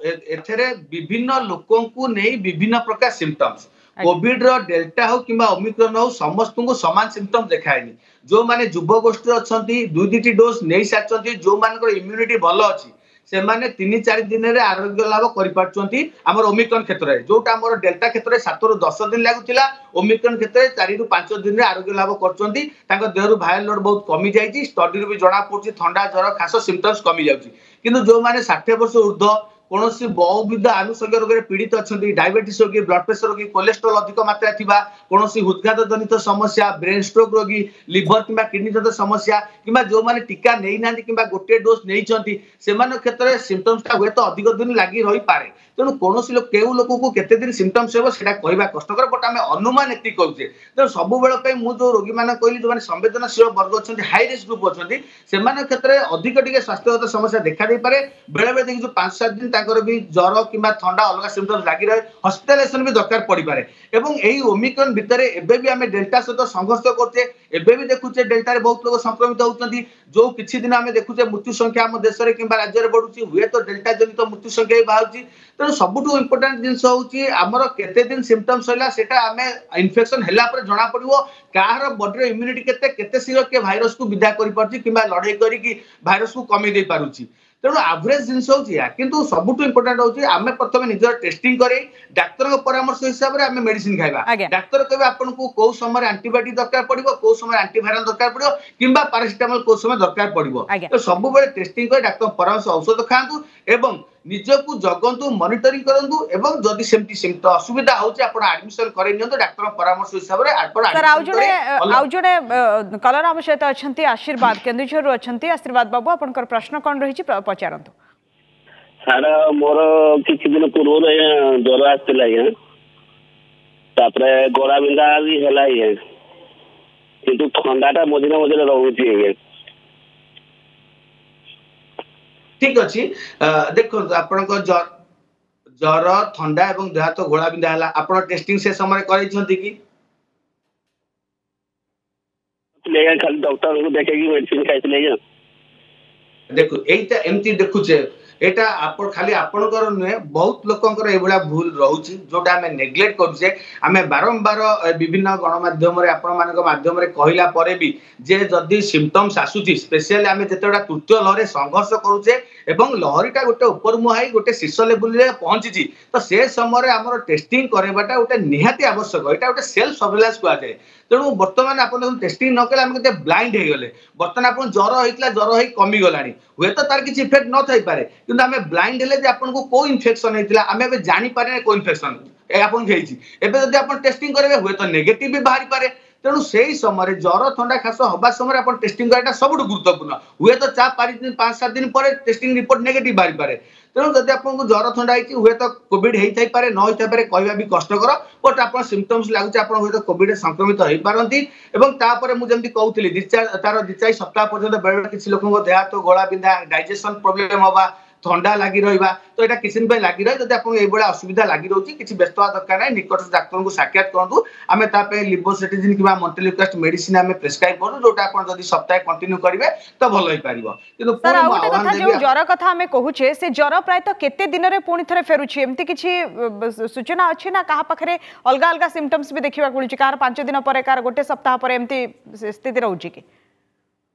ଏଥିରେ ବିଭିନ୍ନ ଲୋକଙ୍କୁ ନେଇ ବିଭିନ୍ନ ପ୍ରକାର ସିମ୍ପଟମ୍ସ। କୋଭିଡ ର ଡେଲ୍ଟା ହଉ କିମ୍ବା ଓମିକ୍ରନ ହଉ, ସମସ୍ତଙ୍କୁ ସମାନ ସିମ୍ପଟମ ଦେଖାଏନି। ଯୋଉମାନେ ଯୁବଗୋଷ୍ଠୀ ଅଛନ୍ତି, 2-2ଟି ଡୋଜ ନେଇ ସାରିଛନ୍ତି, ଯୋଉମାନଙ୍କର ଇମ୍ୟୁନିଟି ଭଲ ଅଛି, ସେମାନେ 3-4 ଦିନରେ ଆରୋଗ୍ୟ ଲାଭ କରିପାରୁଛନ୍ତି ଆମର ଓମିକ୍ରନ କ୍ଷେତ୍ରରେ। ଯୋଉଟା ଆମର ଡେଲ୍ଟା କ୍ଷେତ୍ରରେ 7ରୁ 10 ଦିନ ଲାଗୁଥିଲା, ଓମିକ୍ରନ କ୍ଷେତ୍ରରେ 4ରୁ 5 ଦିନରେ ଆରୋଗ୍ୟ ଲାଭ କରୁଛନ୍ତି। ତାଙ୍କ ଦେହରୁ ଭାଇରାଲ ଲୋଡ ବହୁତ କମି ଯାଇଛି, ଷ୍ଟଡିରୁ ବି ଜଣା ପଡୁଛି, ଥଣ୍ଡା, ଜ୍ୱର, ଖାସ ସିମ୍ପଟମ୍ସ କମି ଯାଉଛି। କିନ୍ତୁ ଯୋଉମାନେ 60 ବର୍ଷ ଉର୍ଦ୍ଧ୍ୱ, କୌଣସି ବହୁବିଧ ଆନୁଷଙ୍ଗିକ ରୋଗରେ ପୀଡ଼ିତ ଅଛନ୍ତି, ଡାଇବେଟିସ୍ ରୋଗୀ, ବ୍ଲଡ ପ୍ରେସର ରୋଗୀ, କୋଲେଷ୍ଟ୍ରଲ ଅଧିକ ମାତ୍ରାରେ ଥିବା, କୌଣସି ହୃଦଘାତ ଜନିତ ସମସ୍ୟା, ବ୍ରେନ୍ ଷ୍ଟ୍ରୋକ୍ ରୋଗୀ, ଲିଭର କିମ୍ବା କିଡନୀ ଜନିତ ସମସ୍ୟା, କିମ୍ବା ଯୋଉମାନେ ଟୀକା ନେଇନାହାନ୍ତି କିମ୍ବା ଗୋଟିଏ ଡୋଜ ନେଇଛନ୍ତି, ସେମାନଙ୍କ କ୍ଷେତ୍ରରେ ସିମ୍ପଟମ୍ସଟା ହୁଏତ ଅଧିକ ଦିନ ଲାଗି ରହିପାରେ। ତେଣୁ କୌଣସି କେଉଁ ଲୋକକୁ କେତେ ଦିନ ସିମ୍ପଟମ୍ସ ହେବ, ସେଇଟା କହିବା କଷ୍ଟକର, ବଟ୍ ଆମେ ଅନୁମାନ ଏତିକି କରୁଛେ। ତେଣୁ ସବୁବେଳ ପାଇଁ ମୁଁ ଯୋଉ ରୋଗୀମାନଙ୍କୁ କହିଲି, ଯୋଉମାନେ ସମ୍ବେଦନଶୀଳ ବର୍ଗ ଅଛନ୍ତି, ହାଇ ରିସ୍କ ଗ୍ରୁପ ଅଛନ୍ତି, ସେମାନଙ୍କ କ୍ଷେତ୍ରରେ ଅଧିକ ଟିକେ ସ୍ୱାସ୍ଥ୍ୟଗତ ସମସ୍ୟା ଦେଖା ଦେଇପାରେ। ବେଳେ ବେଳେ ଦେଖିଛୁ 5-7 ଦିନ ତାଙ୍କର ବି ଜ୍ୱର କିମ୍ବା ଥଣ୍ଡା ଅଲଗା ସିମ୍ପଟମ୍ସ ଲାଗି ରହେ, ହସ୍ପିଟାଲାଇଜେସନ ବି ଦରକାର ପଡିପାରେ। ଏବଂ ଏଇ ଓମିକ୍ରନ ଭିତରେ ଏବେ ବି ଆମେ ଡେଲ୍ଟା ସହିତ ସଂଘର୍ଷ କରୁଛେ। ଏବେ ବି ଦେଖୁଛେ ଡେଲ୍ଟାରେ ବହୁତ ଲୋକ ସଂକ୍ରମିତ ହଉଛନ୍ତି। ଯୋଉ କିଛି ଦିନ ଆମେ ଦେଖୁଛେ ମୃତ୍ୟୁ ସଂଖ୍ୟା ଆମ ଦେଶରେ କିମ୍ବା ରାଜ୍ୟରେ ବଢୁଛି, ହୁଏତ ଡେଲ୍ଟା ଜନିତ ମୃତ୍ୟୁ ସଂଖ୍ୟା ବି ବାହାରୁଛି। ତେଣୁ ସବୁଠୁ ଇମ୍ପୋର୍ଟାଣ୍ଟ ଜିନିଷ ହଉଛି ଆମର କେତେ ଦିନ ସିମ୍ପଟମ୍ସ ହେଲା, ସେଟା ଆମେ ଇନଫେକ୍ସନ ହେଲା ପରେ ଜଣା ପଡିବ କାହାର ବଡିର ଇମ୍ୟୁନିଟି କେତେ, କେତେ ଶୀଘ୍ର କିଏ ଭାଇରସକୁ ବିଦା କରିପାରୁଛି କିମ୍ବା ଲଢେଇ କରିକି ଭାଇରସକୁ କମେଇ ଦେଇ ପାରୁଛି। ତେଣୁ ଆଭରେଜ ଜିନିଷ ହଉଛି ଏହା। କିନ୍ତୁ ସବୁଠୁ ଇମ୍ପୋର୍ଟାଣ୍ଟ ହଉଛି ଆମେ ପ୍ରଥମେ ନିଜର ଟେଷ୍ଟିଂ କରେଇ ଡାକ୍ତରଙ୍କ ପରାମର୍ଶ ହିସାବରେ ଆମେ ମେଡିସିନ ଖାଇବା। ଡାକ୍ତର କହିବେ ଆପଣଙ୍କୁ କୋଉ ସମୟରେ ଆଣ୍ଟିବାୟୋଟିକ ଦରକାର ପଡିବ, କୋଉ ସମୟରେ ଆଣ୍ଟିଭାଇରାଲ ଦରକାର ପଡିବ କିମ୍ବା ପାରାସିଟାମଲ କୋଉ ସମୟ ଦରକାର ପଡିବ। ତ ସବୁବେଳେ ଟେଷ୍ଟିଂ କରି ଡାକ୍ତର ପରାମର୍ଶ ଔଷଧ ଖାଆନ୍ତୁ ଏବଂ ନିଜକୁ ଜଗନ୍ତୁ, ମନିଟରିଂ କରନ୍ତୁ ଏବଂ ଯଦି ସେମିତି ସେମିତି ଅସୁବିଧା ହଉଛି, ଆପଣ ଆଡମିସନ କରେଇ ନିଅନ୍ତୁ ଡାକ୍ତରଙ୍କ ପରାମର୍ଶ ହିସାବରେ ଆପଣ। ଆଉ ଜଣେ କଲର ଆମ ସହିତ ଅଛନ୍ତି, ଆଶୀର୍ବାଦ କେନ୍ଦୁଝରରୁ ଅଛନ୍ତି। ଆଶୀର୍ବାଦ ବାବୁ, ଆପଣଙ୍କର ପ୍ରଶ୍ନ କ'ଣ ରହିଛି, ପଚାରନ୍ତୁ। ସାର୍, ମୋର କିଛି ଦିନ ପୂର୍ବରୁ ଆଜ୍ଞା ଜ୍ୱର ଆସିଥିଲା ଆଜ୍ଞା, ତାପରେ ଗଳା ବିନ୍ଧା ବି ହେଲା ଆଜ୍ଞା, କିନ୍ତୁ ଥଣ୍ଡାଟା ମଝିରେ ମଝିରେ ରହୁଛି ଆଜ୍ଞା। ଠିକ ଅଛି। ଦେଖନ୍ତୁ, ଆପଣଙ୍କ ଜ୍ୱର, ଥଣ୍ଡା ଏବଂ ଦେହ ହାତ ଘୋଳା ବିନ୍ଧା ହେଲା, ଆପଣ ଟେଷ୍ଟିଂ ସେ ସମୟରେ କରେଇଛନ୍ତି କି? ଆଜ୍ଞା, ଖାଲି ଡକ୍ଟରଙ୍କୁ ଦେଖେଇକି ମେଡିସିନ ଖାଇଥିଲି ଆଜ୍ଞା। ଦେଖୁ, ଏଇଟା ଏମିତି ଦେଖୁଛେ, ଏଇଟା ଆପଣ ଖାଲି ଆପଣଙ୍କର ନୁହେଁ, ବହୁତ ଲୋକଙ୍କର ଏଇଭଳିଆ ଭୁଲ ରହୁଛି ଯୋଉଟା ଆମେ ନେଗ୍ଲେକ୍ଟ କରୁଛେ। ଆମେ ବାରମ୍ବାର ବିଭିନ୍ନ ଗଣମାଧ୍ୟମରେ ଆପଣମାନଙ୍କ ମାଧ୍ୟମରେ କହିଲା ପରେ ବି ଯେ ଯଦି ସିମ୍ପଟମ୍ସ ଆସୁଛି, ସ୍ପେଶିଆଲି ଆମେ ଯେତେବେଳେ ତୃତୀୟ ଲହରରେ ସଂଘର୍ଷ କରୁଛେ ଏବଂ ଲହରୀଟା ଗୋଟେ ଉପର ମୁହାଁ ହେଇ ଗୋଟେ ଶୀର୍ଷ ଲେବୁଲରେ ପହଞ୍ଚିଛି, ତ ସେ ସମୟରେ ଆମର ଟେଷ୍ଟିଂ କରାଇବାଟା ଗୋଟେ ନିହାତି ଆବଶ୍ୟକ। ଏଇଟା ଗୋଟେ ସେଲ୍ଫ ସର୍ଭେଲାନ୍ସ କୁହାଯାଏ। ତେଣୁ ବର୍ତ୍ତମାନ ଆପଣ ଦେଖନ୍ତୁ, ଟେଷ୍ଟିଂ ନ କଲେ ଆମେ କେତେ ବ୍ଲାଇଣ୍ଡ ହେଇଗଲେ। ବର୍ତ୍ତମାନ ଆପଣ ଜ୍ୱର ହେଇଥିଲା, ଜ୍ୱର ହେଇ କମିଗଲାଣି, ହୁଏତ ତାର କିଛି ଇଫେକ୍ଟ ନଥାଇପାରେ, କିନ୍ତୁ ଆମେ ବ୍ଲାଇଣ୍ଡ ହେଲେ ଯେ ଆପଣଙ୍କୁ କୋଉ ଇନଫେକ୍ସନ ହେଇଥିଲା ଆମେ ଏବେ ଜାଣିପାରିନେ କୋଉ ଇନଫେକ୍ସନ ଆପଣଙ୍କୁ ହେଇଛି। ଏବେ ଯଦି ଆପଣ ଟେଷ୍ଟିଂ କରିବେ ହୁଏତ ନେଗେଟିଭ ବି ବାହାରିପାରେ। ତେଣୁ ସେଇ ସମୟରେ ଜ୍ୱର, ଥଣ୍ଡା, ଖାସ ହବା ସମୟରେ ଆପଣ ଟେଷ୍ଟିଂ କରିବାଟା ସବୁଠୁ ଗୁରୁତ୍ୱପୂର୍ଣ୍ଣ। ହୁଏତ 4-5 ଦିନ, 5-7 ଦିନ ପରେ ଟେଷ୍ଟିଂ ରିପୋର୍ଟ ନେଗେଟିଭ ବାହାରିପାରେ। ତେଣୁ ଯଦି ଆପଣଙ୍କୁ ଜ୍ୱର, ଥଣ୍ଡା ହେଇଛି, ହୁଏତ କୋଭିଡ ହେଇଥାଇପାରେ, ନ ହେଇଥାଇପାରେ, କହିବା ବି କଷ୍ଟକର। ବଟ୍ ଆପଣ ସିମ୍ପଟମ୍ସ ଲାଗୁଛି, ଆପଣ ହୁଏତ କୋଭିଡ ସଂକ୍ରମିତ ହେଇପାରନ୍ତି। ଏବଂ ତାପରେ ମୁଁ ଯେମିତି କହୁଥିଲି, ଦି ଚାରି ତାର 2-4 ସପ୍ତାହ ପର୍ଯ୍ୟନ୍ତ ବେଳେବେଳେ କିଛି ଲୋକଙ୍କ ଦେହ ହାତ ଗୋଳା ବିନ୍ଧା, ଡାଇଜେସନ ପ୍ରୋବ୍ଲେମ ହବା, ଥଣ୍ଡା ଲାଗି ରହିବା, ତ ଏଇଟା କିଛି ଦିନ ପାଇଁ ଲାଗି ରହେ। ଯଦି ଆପଣଙ୍କୁ ଏଇଭଳିଆ ଅସୁବିଧା ଲାଗି ରହୁଛି, କିଛି ବ୍ୟସ୍ତ ହେବା ଦରକାର ନାହିଁ। ନିକଟ ଡାକ୍ତରଙ୍କୁ ସାକ୍ଷାତ କରନ୍ତୁ। ଆମେ ତା ପାଇଁ ଲିଭୋସେଟ୍ରିଜିନ୍ କିମ୍ବା ମଣ୍ଟେଲୁକାଷ୍ଟ ମେଡିସିନ ଆମେ ପ୍ରେସକ୍ରାଇବ କରୁ, ଯୋଉଟା ଆପଣ ଯଦି ସପ୍ତାହେ କଣ୍ଟିନ୍ୟୁ କରିବେ ତ ଭଲ ହେଇପାରିବ। କିନ୍ତୁ ସାର୍, ପୁଣି ଆଉ ମୁଁ ଗୋଟେ ଆହ୍ୱାନ କଥା, ଦେବି। ଯେଉଁ ଜ୍ୱର କଥା ଆମେ କହୁଛେ, ସେ ଜ୍ୱର ପ୍ରାୟତଃ କେତେ ଦିନରେ ପୁଣି ଥରେ ଫେରୁଛି, ଏମିତି କିଛି ସୂଚନା ଅଛି ନା କାହା ପାଖରେ ଅଲଗା ଅଲଗା ସିମ୍ପଟମ୍ସ ବି ଦେଖିବାକୁ ମିଳୁଛି? କାହାର 5 ଦିନ ପରେ, କାହାର ଗୋଟେ ସପ୍ତାହ ପରେ, ଏମିତି ସ୍ଥିତି ରହୁଛି କି?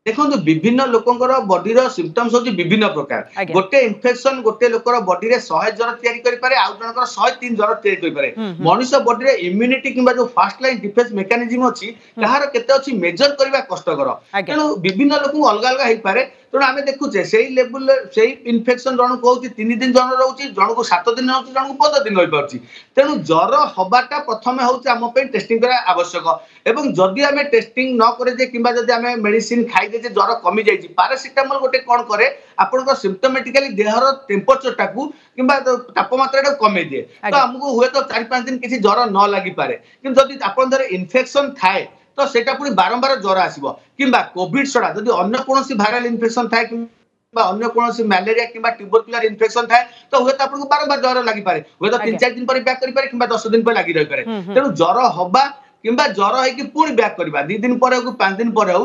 ଦେଖନ୍ତୁ, ବିଭିନ୍ନ ଲୋକଙ୍କର ବଡିର ସିମ୍ପଟମ୍ସ ହଉଛି ବିଭିନ୍ନ ପ୍ରକାର। ଗୋଟେ ଇନଫେକ୍ସନ ଗୋଟେ ଲୋକର ବଡିରେ 100 ଜ୍ୱର ତିଆରି କରିପାରେ, ଆଉ ଜଣଙ୍କର 103 ଜ୍ୱର ତିଆରି କରିପାରେ। ମଣିଷ ବଡିରେ ଇମ୍ୟୁନିଟି କିମ୍ବା ଯୋଉ ଫାଷ୍ଟ ଲାଇନ ଡିଫେନ୍ସ ମେକାନିଜିମ ଅଛି, କାହାର କେତେ ଅଛି ମେଜର କରିବା କଷ୍ଟକର। ତେଣୁ ବିଭିନ୍ନ ଲୋକଙ୍କୁ ଅଲଗା ଅଲଗା ହେଇପାରେ। ତେଣୁ ଆମେ ଦେଖୁଛେ ସେଇ ଲେବୁଲରେ ସେଇ ଇନଫେକ୍ସନ ଜଣକୁ ହଉଛି 3 ଦିନ ଜଣ ରହୁଛି, ଜଣକୁ 7 ଦିନ ରହୁଛି, ଜଣକୁ 15 ଦିନ ରହିପାରୁଛି। ତେଣୁ ଜ୍ୱର ହବାଟା ପ୍ରଥମେ ହଉଛି ଆମ ପାଇଁ ଟେଷ୍ଟିଂ କରିବା ଆବଶ୍ୟକ। ଏବଂ ଯଦି ଆମେ ଟେଷ୍ଟିଂ ନ କରେ କିମ୍ବା ଯଦି ଆମେ ମେଡିସିନ ଖାଇଦେଛେ, ଜ୍ୱର କମି ଯାଇଛି, ପାରାସିଟାମଲ ଗୋଟେ କଣ କରେ, ଆପଣଙ୍କ ସିମ୍ପଟୋମେଟିକାଲି ଦେହର ଟେମ୍ପରେଚରଟାକୁ କିମ୍ବା ତାପମାତ୍ରାଟାକୁ କମେଇ ଦିଏ। ତ ଆମକୁ ହୁଏତ 4-5 ଦିନ କିଛି ଜ୍ୱର ନ ଲାଗିପାରେ। କିନ୍ତୁ ଯଦି ଆପଣଙ୍କ ଦେହରେ ଇନଫେକ୍ସନ ଥାଏ, ତ ସେଇଟା ପୁଣି ବାରମ୍ବାର ଜ୍ୱର ଆସିବ। କିମ୍ବା କୋଭିଡ ଛଡା ଯଦି ଅନ୍ୟ କୌଣସି ଭାଇରାଲ ଇନଫେକ୍ସନ ଥାଏ କିମ୍ବା ଅନ୍ୟ କୌଣସି ମ୍ୟାଲେରିଆ କିମ୍ବା ଟ୍ୟୁବରକୁଲାର ଇନଫେକ୍ସନ ଥାଏ, ତ ହୁଏତ ଆପଣଙ୍କୁ ବାରମ୍ବାର ଜ୍ୱର ଲାଗିପାରେ। ହୁଏତ ତିନି ଚାରି ଦିନ ପରେ ବ୍ୟାକ୍ କରିପାରେ କିମ୍ବା 10 ଦିନ ପରେ ଲାଗି ରହିପାରେ। ତେଣୁ ଜ୍ୱର ହବା କିମ୍ବା ଜ୍ୱର ହେଇକି ପୁଣି ବ୍ୟାକ୍ କରିବା 2 ଦିନ ପରେ ହଉ କି 5 ଦିନ ପରେ ହଉ,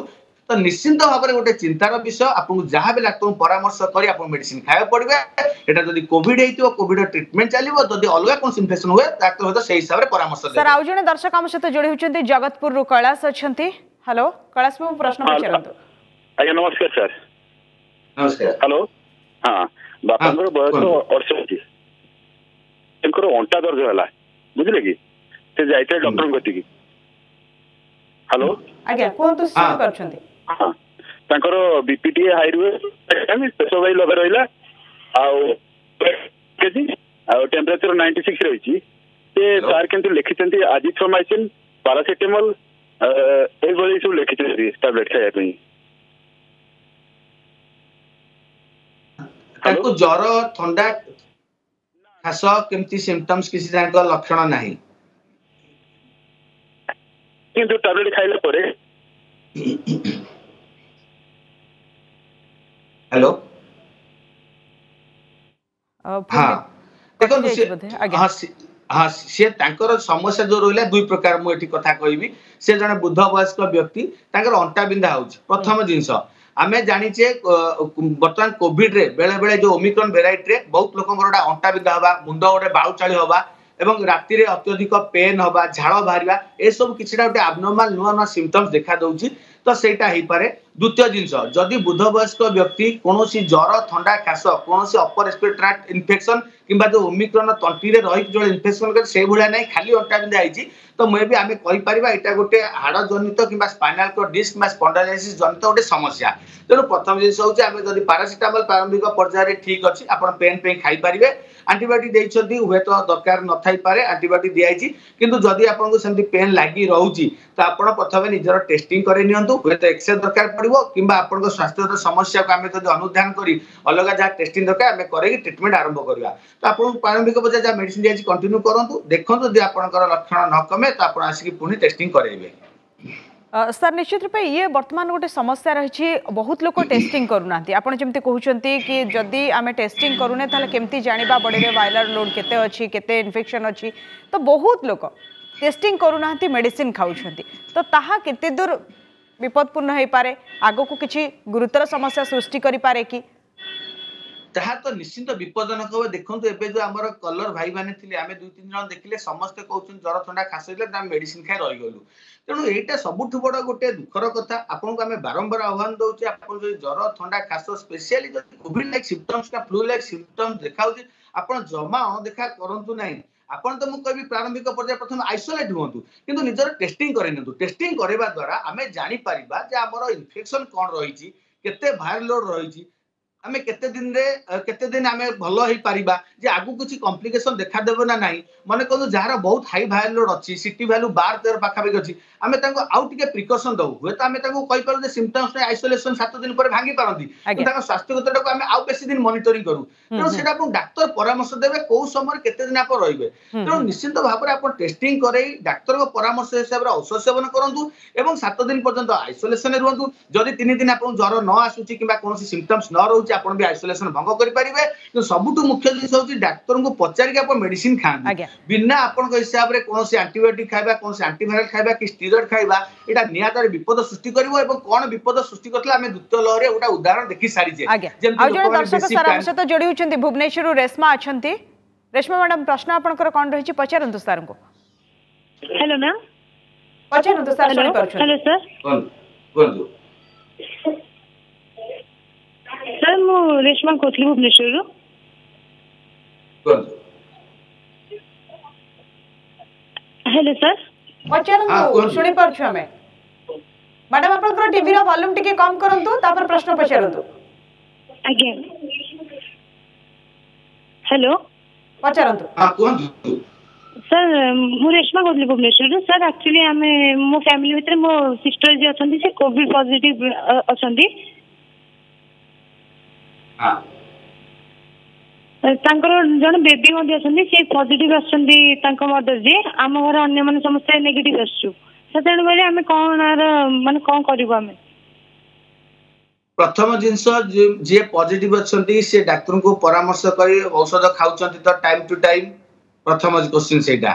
ତ ନିଶ୍ଚିନ୍ତ ଭାବରେ ଗୋଟେ ଚିନ୍ତାର ବିଷୟ। ଆପଣଙ୍କୁ ଯାହା ବି ଡାକ୍ତରଙ୍କୁ ପରାମର୍ଶ କରି ଆପଣ ମେଡିସିନ ଖାଇବାକୁ ପଡିବେ। ଏଟା ଯଦି କୋଭିଡ ହେଇଥିବ, କୋଭିଡ ଟ୍ରିଟମେଣ୍ଟ ଚାଲିବ। ଯଦି ଅଲଗା କୌଣସି ଇନଫେକ୍ସନ ହୁଏ, ଡାକ୍ତର ହୁଏତ ସେଇ ହିସାବରେ ପରାମର୍ଶ ସାର୍, ଦେବେ। ଆଉ ଜଣେ ଦର୍ଶକ ଆମ ସହିତ ଯୋଡ଼ି ହେଉଛନ୍ତି, ଜଗତପୁରରୁ କୈଳାସ ଅଛନ୍ତି। ହ୍ୟାଲୋ କୈଳାସ ବାବୁ, ପ୍ରଶ୍ନ ପଚାରନ୍ତୁ। ଆଜ୍ଞା, ନମସ୍କାର ସାର୍। ନମସ୍କାର। ହ୍ୟାଲୋ, ହଁ, ବାପାଙ୍କର ବୟସ କୁହନ୍ତୁ। 68। ତାଙ୍କର ଅଣ୍ଟା ଦରଜ ହେଲା, ବୁଝିଲେ କି? ସେ ଯାଇଥିଲେ ଡକ୍ଟରଙ୍କ କତିକି। ହ୍ୟାଲୋ। ଆଜ୍ଞା, କୁହନ୍ତୁ, ଶୁଣିପାରୁଛନ୍ତି। ହଁ, ତାଙ୍କର ବିପି ଟିକେ ହାଇ ରୁହେ, ପ୍ରେସର ବାଇ 90 ରହିଲା ଆଉ କେଜି ଆଉ ଟେମ୍ପରେଚର 96 ରହିଛି। ସେ ସାର୍ କିନ୍ତୁ ଲେଖିଛନ୍ତି ଆଜିଥ୍ରୋମାଇସିନ, ପାରାସିଟାମଲ, ଏଇଭଳି ସବୁ ଲେଖିଛନ୍ତି ଟାବଲେଟ ଖାଇବା ପାଇଁ। ତାଙ୍କୁ ଜ୍ୱର, ଥଣ୍ଡା, ଖାସ କେମିତି ସିମ୍ପଟମ୍ସ କିଛି ତାଙ୍କ ଲକ୍ଷଣ ନାହିଁ? କିନ୍ତୁ ଟାବଲେଟ ଖାଇଲା ପରେ ହ୍ୟାଲୋ। ପୁଣି ଦେଖନ୍ତୁ, କଟିଯାଇଛି ବୋଧେ। ଆଜ୍ଞା। ହଁ, ସିଏ ତାଙ୍କର ସମସ୍ୟା ଯୋଉ ରହିଲା ଦୁଇ ପ୍ରକାର, ମୁଁ ଏଠି କଥା କହିବି। ସେ ଜଣେ ବୃଦ୍ଧ ବୟସ୍କ ବ୍ୟକ୍ତି, ତାଙ୍କର ଅଣ୍ଟା ବିନ୍ଧା ହଉଛି। ପ୍ରଥମ ଜିନିଷ ଆମେ ଜାଣିଛେ, ବର୍ତ୍ତମାନ କୋଭିଡ ରେ ବେଳେ ବେଳେ ଯୋଉ ଓମିକ୍ରନ ଭେରାଇଟିରେ ବହୁତ ଲୋକଙ୍କର ଗୋଟେ ଅଣ୍ଟା ବିନ୍ଧା ହବା, ମୁଣ୍ଡ ଗୋଟେ ବାଉ ଚାଳି ହବା ଏବଂ ରାତିରେ ଅତ୍ୟଧିକ ପେନ୍ ହବା, ଝାଳ ବାହାରିବା, ଏସବୁ କିଛିଟା ଗୋଟେ ଆବନର୍ମାଲ ନୂଆ ନୂଆ ସିମ୍ପଟମ୍ସ ଦେଖା ଦଉଛି। ତ ସେଇଟା ହେଇପାରେ। ଦ୍ୱିତୀୟ ଜିନିଷ, ଯଦି ବୃଦ୍ଧ ବୟସ୍କ ବ୍ୟକ୍ତି କୌଣସି ଜ୍ୱର, ଥଣ୍ଡା, କାଶ, କୌଣସି ଅପର ରେସ୍ପିରେଟୋରୀ ଇନଫେକ୍ସନ କିମ୍ବା ଯୋଉ ଓମିକ୍ରନ ତଣ୍ଟିରେ ରହିକି ଯୋଉ ଇନଫେକ୍ସନ କରେ ସେଇଭଳିଆ ନାହିଁ, ଖାଲି ଅଣ୍ଟା ବିନ୍ଧା ହେଇଛି, ତ ମେ ବି ଆମେ କହିପାରିବା ଏଇଟା ଗୋଟେ ହାଡ଼ ଜନିତ କିମ୍ବା ସ୍ପାଇନାଲ କର୍ଡ ଡିସ୍କ କିମ୍ବା ସ୍ପଣ୍ଡାଇଲାଇସିସ୍ ଜନିତ ଗୋଟେ ସମସ୍ୟା। ତେଣୁ ପ୍ରଥମ ଜିନିଷ ହଉଛି, ଆମେ ଯଦି ପାରାସିଟାମଲ ପ୍ରାରମ୍ଭିକ ପର୍ଯ୍ୟାୟରେ ଠିକ ଅଛି, ଆପଣ ପେନ୍ ପାଇଁ ଖାଇପାରିବେ। ଆଣ୍ଟିବାୟୋଟିକ ଦେଇଛନ୍ତି, ହୁଏତ ଦରକାର ନଥାଇପାରେ ଆଣ୍ଟିବାୟୋଟିକ ଦିଆଯାଇଛି। କିନ୍ତୁ ଯଦି ଆପଣଙ୍କୁ ସେମିତି ପେନ୍ ଲାଗି ରହୁଛି, ତ ଆପଣ ପ୍ରଥମେ ନିଜର ଟେଷ୍ଟିଂ କରି ନିଅନ୍ତୁ। ହୁଏତ ଏକ୍ସରେ ଦରକାର ପଡିବ କିମ୍ବା ଆପଣଙ୍କ ସ୍ୱାସ୍ଥ୍ୟଗତ ସମସ୍ୟାକୁ ଆମେ ଯଦି ଅନୁଧ୍ୟାନ କରି ଅଲଗା ଯାହା ଟେଷ୍ଟିଂ ଦରକାର ଆମେ କରେଇକି ଟ୍ରିଟମେଣ୍ଟ ଆରମ୍ଭ କରିବା। ତ ଆପଣଙ୍କୁ ପ୍ରାରମ୍ଭିକ ପର୍ଯ୍ୟାୟରେ ଯାହା ମେଡିସିନ ଦିଆଯାଇଛି କଣ୍ଟିନ୍ୟୁ କରନ୍ତୁ। ଦେଖନ୍ତୁ, ଯଦି ଆପଣଙ୍କର ଲକ୍ଷଣ ନ କମେ, ତ ଆପଣ ଆସିକି ପୁଣି ଟେଷ୍ଟିଂ କରେଇବେ। ସାର୍, ନିଶ୍ଚିତ ରୂପେ ଇଏ ବର୍ତ୍ତମାନ ଗୋଟେ ସମସ୍ୟା ରହିଛି, ବହୁତ ଲୋକ ଟେଷ୍ଟିଂ କରୁନାହାନ୍ତି। ଆପଣ ଯେମିତି କହୁଛନ୍ତି କି ଯଦି ଆମେ ଟେଷ୍ଟିଂ କରୁନେ, ତାହେଲେ କେମିତି ଜାଣିବା ବଡିରେ ଭାଇରାଲ ଲୋଡ୍ କେତେ ଅଛି, କେତେ ଇନଫେକ୍ସନ୍ ଅଛି? ତ ବହୁତ ଲୋକ ଟେଷ୍ଟିଂ କରୁନାହାନ୍ତି, ମେଡିସିନ ଖାଉଛନ୍ତି। ତ ତାହା କେତେ ଦୂର ବିପଦପୂର୍ଣ୍ଣ ହେଇପାରେ, ଆଗକୁ କିଛି ଗୁରୁତର ସମସ୍ୟା ସୃଷ୍ଟି କରିପାରେ କି? ତାହା ତ ନିଶ୍ଚିନ୍ତ ବିପଦଜନକ ହବ। ଦେଖନ୍ତୁ, ଏବେ ଯୋଉ ଆମର କଲର ଭାଇ ମାନେ ଥିଲେ, ଆମେ ଦୁଇ ତିନି ଜଣ ଦେଖିଲେ, ସମସ୍ତେ କହୁଛନ୍ତି ଜର, ଥଣ୍ଡା, ଖାସ ହେଇଥିଲା, ଆମେ ମେଡିସିନ ଖାଇ ରହିଗଲୁ। ତେଣୁ ଏଇଟା ସବୁଠୁ ବଡ ଗୋଟେ ଦୁଃଖର କଥା। ଆପଣଙ୍କୁ ଆମେ ବାରମ୍ବାର ଆହ୍ୱାନ ଦଉଛେ, ଆପଣ ଯଦି ଜର, ଥଣ୍ଡା, ଖାସ, ସ୍ପେସିଆଲି ଯଦି କୋଭିଡ ଲାଇକ୍ ସିମ୍ପଟମ୍ସ ବା ଫ୍ଲୁ ଲାଇକ୍ ସିମ୍ପଟମ୍ସ ଦେଖାଉଛି, ଆପଣ ଜମା ଅଣଦେଖା କରନ୍ତୁ ନାହିଁ। ଆପଣ ତ ମୁଁ କହିବି ପ୍ରାରମ୍ଭିକ ପର୍ଯ୍ୟାୟ ପ୍ରଥମେ ଆଇସୋଲେଟ୍ ହୁଅନ୍ତୁ, କିନ୍ତୁ ନିଜର ଟେଷ୍ଟିଂ କରେଇ ନିଅନ୍ତୁ। ଟେଷ୍ଟିଂ କରିବା ଦ୍ୱାରା ଆମେ ଜାଣିପାରିବା ଯେ ଆମର ଇନଫେକ୍ସନ କଣ ରହିଛି, କେତେ ଭାଇରାଲ ଲୋଡ ରହିଛି, ଆମେ କେତେ ଦିନରେ କେତେ ଦିନ ଆମେ ଭଲ ହେଇପାରିବା, ଯେ ଆଗକୁ କିଛି କମ୍ପ୍ଲିକେସନ ଦେଖାଦେବ ନା ନାହିଁ। ମନେ କରନ୍ତୁ, ଯାହାର ବହୁତ ହାଇ ଭାଇରାଲ ଲୋଡ ଅଛି, ସିଟି ଭ୍ୟାଲୁ 12-13 ପାଖାପାଖି ଅଛି, ଆମେ ତାଙ୍କୁ ଆଉ ଟିକେ ପ୍ରିକସନ ଦବୁ। ହୁଏତ ଆମେ ତାଙ୍କୁ କହିପାରୁ ଯେ ସିମ୍ପଟମ୍ସ ଆଇସୋଲେସନ 7 ଦିନ ପରେ ଭାଙ୍ଗି ପାରନ୍ତି, କିନ୍ତୁ ତାଙ୍କ ସ୍ୱାସ୍ଥ୍ୟଗତଟାକୁ ଆମେ ଆଉ ବେଶୀ ଦିନ ମନିଟରିଂ କରୁ। ତେଣୁ ସେଇଟା ଆପଣ ଡାକ୍ତର ପରାମର୍ଶ ଦେବେ କୋଉ ସମୟରେ କେତେ ଦିନ ଆପଣ ରହିବେ। ତେଣୁ ନିଶ୍ଚିନ୍ତ ଭାବରେ ଆପଣ ଟେଷ୍ଟିଂ କରେଇ ଡାକ୍ତରଙ୍କ ପରାମର୍ଶ ହିସାବରେ ଔଷଧ ସେବନ କରନ୍ତୁ ଏବଂ 7 ଦିନ ପର୍ଯ୍ୟନ୍ତ ଆଇସୋଲେସନରେ ରୁହନ୍ତୁ। ଯଦି 3 ଦିନ ଆପଣଙ୍କୁ ଜ୍ୱର ନ ଆସୁଛି କିମ୍ବା କୌଣସି ସିମ୍ପଟମ୍ସ ନ ରହୁଛି, ଆପଣ ବି ଆଇସୋଲେସନ ଭଙ୍ଗ କରିପାରିବେ। କିନ୍ତୁ ସବୁଠୁ ମୁଖ୍ୟ ଜିନିଷ ହଉଛି, ଡାକ୍ତରଙ୍କୁ ପଚାରିକି ଆପଣ ମେଡିସିନ ଖାଆନ୍ତୁ। ବିନା ଆପଣଙ୍କ ହିସାବରେ କୌଣସି ଆଣ୍ଟିବାୟୋଟିକ ଖାଇବା, କୌଣସି ଆଣ୍ଟିଭାଇରାଲ ଖାଇବା କି ଷ୍ଟିରଏଡ ଖାଇବା, ଏଇଟା ନିହାତି ବିପଦ ସୃଷ୍ଟି କରିବ। ଏବଂ କଣ ବିପଦ ସୃଷ୍ଟି କରିଥିଲା, ଆମେ ଦ୍ୱିତୀୟ ଲହରରେ ଗୋଟେ ଉଦାହରଣ ଦେଖି ସାରିଛେ। ଯେମିତି ଆଉ ଜଣେ ଦର୍ଶକ ସାର୍ ଆମ ସହିତ ଯୋଡ଼ି ହେଉଛନ୍ତି, ଭୁବନେଶ୍ୱରରୁ ରେଶମା ଅଛନ୍ତି। ରେଶମା ମ୍ୟାଡାମ, ପ୍ରଶ୍ନ ଆପଣଙ୍କର କଣ ରହିଛି, ପଚାରନ୍ତୁ ସାର୍ଙ୍କୁ। Hello ma'am. ପଚାରନ୍ତୁ, ସାର୍ ଶୁଣିପାରୁଛନ୍ତି। Hello sir. କୁହନ୍ତୁ। ସାର୍, ମୁଁ ରେଶମା କହୁଥିଲି ଭୁବନେଶ୍ୱରରୁ। କୁହନ୍ତୁ। Hello sir. ପଚାରନ୍ତୁ, ଶୁଣିପାରୁଛୁ ଆମେ। ମ୍ୟାଡାମ, ଆପଣଙ୍କର ଟିଭିର ଭଲ୍ୟୁମ୍ ଟିକେ କମ୍ କରନ୍ତୁ, ତାପରେ ପ୍ରଶ୍ନ ପଚାରନ୍ତୁ। ଆଜ୍ଞା, ହ୍ୟାଲୋ। ପଚାରନ୍ତୁ। ହଁ, କୁହନ୍ତୁ। ସାର୍, ମୁଁ ରେଶମା କହୁଥିଲି ଭୁବନେଶ୍ୱରରୁ। ସାର୍, ଆକ୍ଚୁଆଲି ଆମେ ମୋ ଫ୍ୟାମିଲି ଭିତରେ ମୋ ସିଷ୍ଟର ଯିଏ ଅଛନ୍ତି, ସେ କୋଭିଡ ପଜିଟିଭ ଅଛନ୍ତି। ତାଙ୍କର ଜଣେ ବେବି ମଧ୍ୟ ଅଛନ୍ତି, ସେ ପଜିଟିଭ ଆସୁଛନ୍ତି ତାଙ୍କ ମଦର ଯିଏ। ଆମ ଘରେ ଅନ୍ୟମାନେ ସମସ୍ତେ ନେଗେଟିଭ ଆସୁଛୁ ସାର୍। ତେଣୁକରି ଆମେ କଣ ଆର ମାନେ କଣ କରିବୁ ଆମେ? ପ୍ରଥମ ଜିନିଷ, ଯିଏ ପଜିଟିଭ ଅଛନ୍ତି, ସେ ଡାକ୍ତରଙ୍କୁ ପରାମର୍ଶ କରି ଔଷଧ ଖାଉଛନ୍ତି ତ ଟାଇମ ଟୁ ଟାଇମ? ପ୍ରଥମ କ୍ୱେଶ୍ଚିନ୍ ସେଇଟା।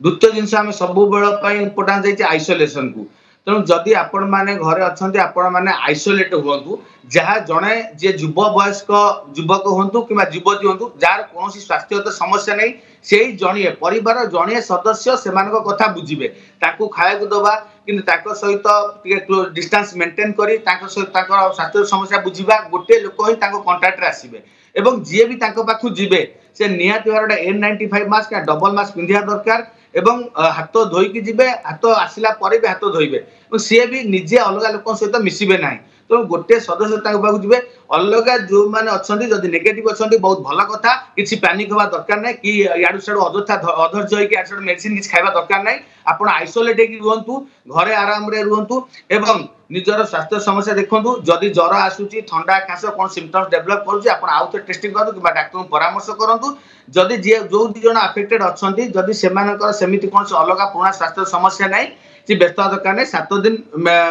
ଦ୍ୱିତୀୟ ଜିନିଷ, ଆମେ ସବୁବେଳ ପାଇଁ ଇମ୍ପୋର୍ଟାନ୍ସ ଦେଇଛେ ଆଇସୋଲେସନକୁ। ତେଣୁ ଯଦି ଆପଣମାନେ ଘରେ ଅଛନ୍ତି, ଆପଣମାନେ ଆଇସୋଲେଟ ହୁଅନ୍ତୁ। ଯାହା ଜଣେ ଯିଏ ଯୁବ ବୟସ୍କ ଯୁବକ ହୁଅନ୍ତୁ କିମ୍ବା ଯୁବତୀ ହୁଅନ୍ତୁ, ଯାହାର କୌଣସି ସ୍ୱାସ୍ଥ୍ୟଗତ ସମସ୍ୟା ନାହିଁ, ସେଇ ଜଣିଏ ପରିବାର ଜଣିଏ ସଦସ୍ୟ ସେମାନଙ୍କ କଥା ବୁଝିବେ, ତାଙ୍କୁ ଖାଇବାକୁ ଦବା, କିନ୍ତୁ ତାଙ୍କ ସହିତ ଟିକେ ଡିଷ୍ଟାନ୍ସ ମେଣ୍ଟେନ କରି ତାଙ୍କ ସହିତ ତାଙ୍କର ସ୍ୱାସ୍ଥ୍ୟ ସମସ୍ୟା ବୁଝିବା। ଗୋଟିଏ ଲୋକ ହିଁ ତାଙ୍କ କଣ୍ଟାକ୍ଟରେ ଆସିବେ ଏବଂ ଯିଏ ବି ତାଙ୍କ ପାଖକୁ ଯିବେ, ସେ ନିହାତି ଭାବରେ ଗୋଟେ N95 mask, double mask ପିନ୍ଧିବା ଦରକାର ଏବଂ ହାତ ଧୋଇକି ଯିବେ, ହାତ ଆସିଲା ପରେ ବି ହାତ ଧୋଇବେ ଏବଂ ସିଏ ବି ନିଜେ ଅଲଗା ଲୋକଙ୍କ ସହିତ ମିଶିବେ ନାହିଁ। ତେଣୁ ଗୋଟିଏ ସଦସ୍ୟ ତାଙ୍କ ପାଖକୁ ଯିବେ। ଅଲଗା ଯୋଉମାନେ ଅଛନ୍ତି, ଯଦି ନେଗେଟିଭ ଅଛନ୍ତି, ବହୁତ ଭଲ କଥା। କିଛି ପ୍ୟାନିକ ହବା ଦରକାର ନାହିଁ କି ଇଆଡୁ ସିଆଡୁ ଅଯଥା ଅଧୈର୍ଯ୍ୟ ହେଇକି ଇଆଡୁ ସିଆଡୁ ମେଡିସିନ କିଛି ଖାଇବା ଦରକାର ନାହିଁ। ଆପଣ ଆଇସୋଲେଟ ହେଇକି ରୁହନ୍ତୁ, ଘରେ ଆରାମରେ ରୁହନ୍ତୁ ଏବଂ ନିଜର ସ୍ୱାସ୍ଥ୍ୟ ସମସ୍ୟା ଦେଖନ୍ତୁ। ଯଦି ଜ୍ୱର ଆସୁଛି, ଥଣ୍ଡା, ଖାସ କଣ ସିମ୍ପଟମ୍ସ ଡେଭଲପ କରୁଛି, ଆପଣ ଆଉ ଥରେ ଟେଷ୍ଟିଂ କରନ୍ତୁ କିମ୍ବା ଡାକ୍ତରଙ୍କୁ ପରାମର୍ଶ କରନ୍ତୁ। ଯଦି ଯିଏ ଯୋଉ ଦି ଜଣ ଆଫେକ୍ଟେଡ ଅଛନ୍ତି, ଯଦି ସେମାନଙ୍କର ସେମିତି କୌଣସି ଅଲଗା ପୁରୁଣା ସ୍ୱାସ୍ଥ୍ୟ ସମସ୍ୟା ନାହିଁ, କିଛି ବ୍ୟସ୍ତ ହେବା ଦରକାର ନାହିଁ। 7 ଦିନ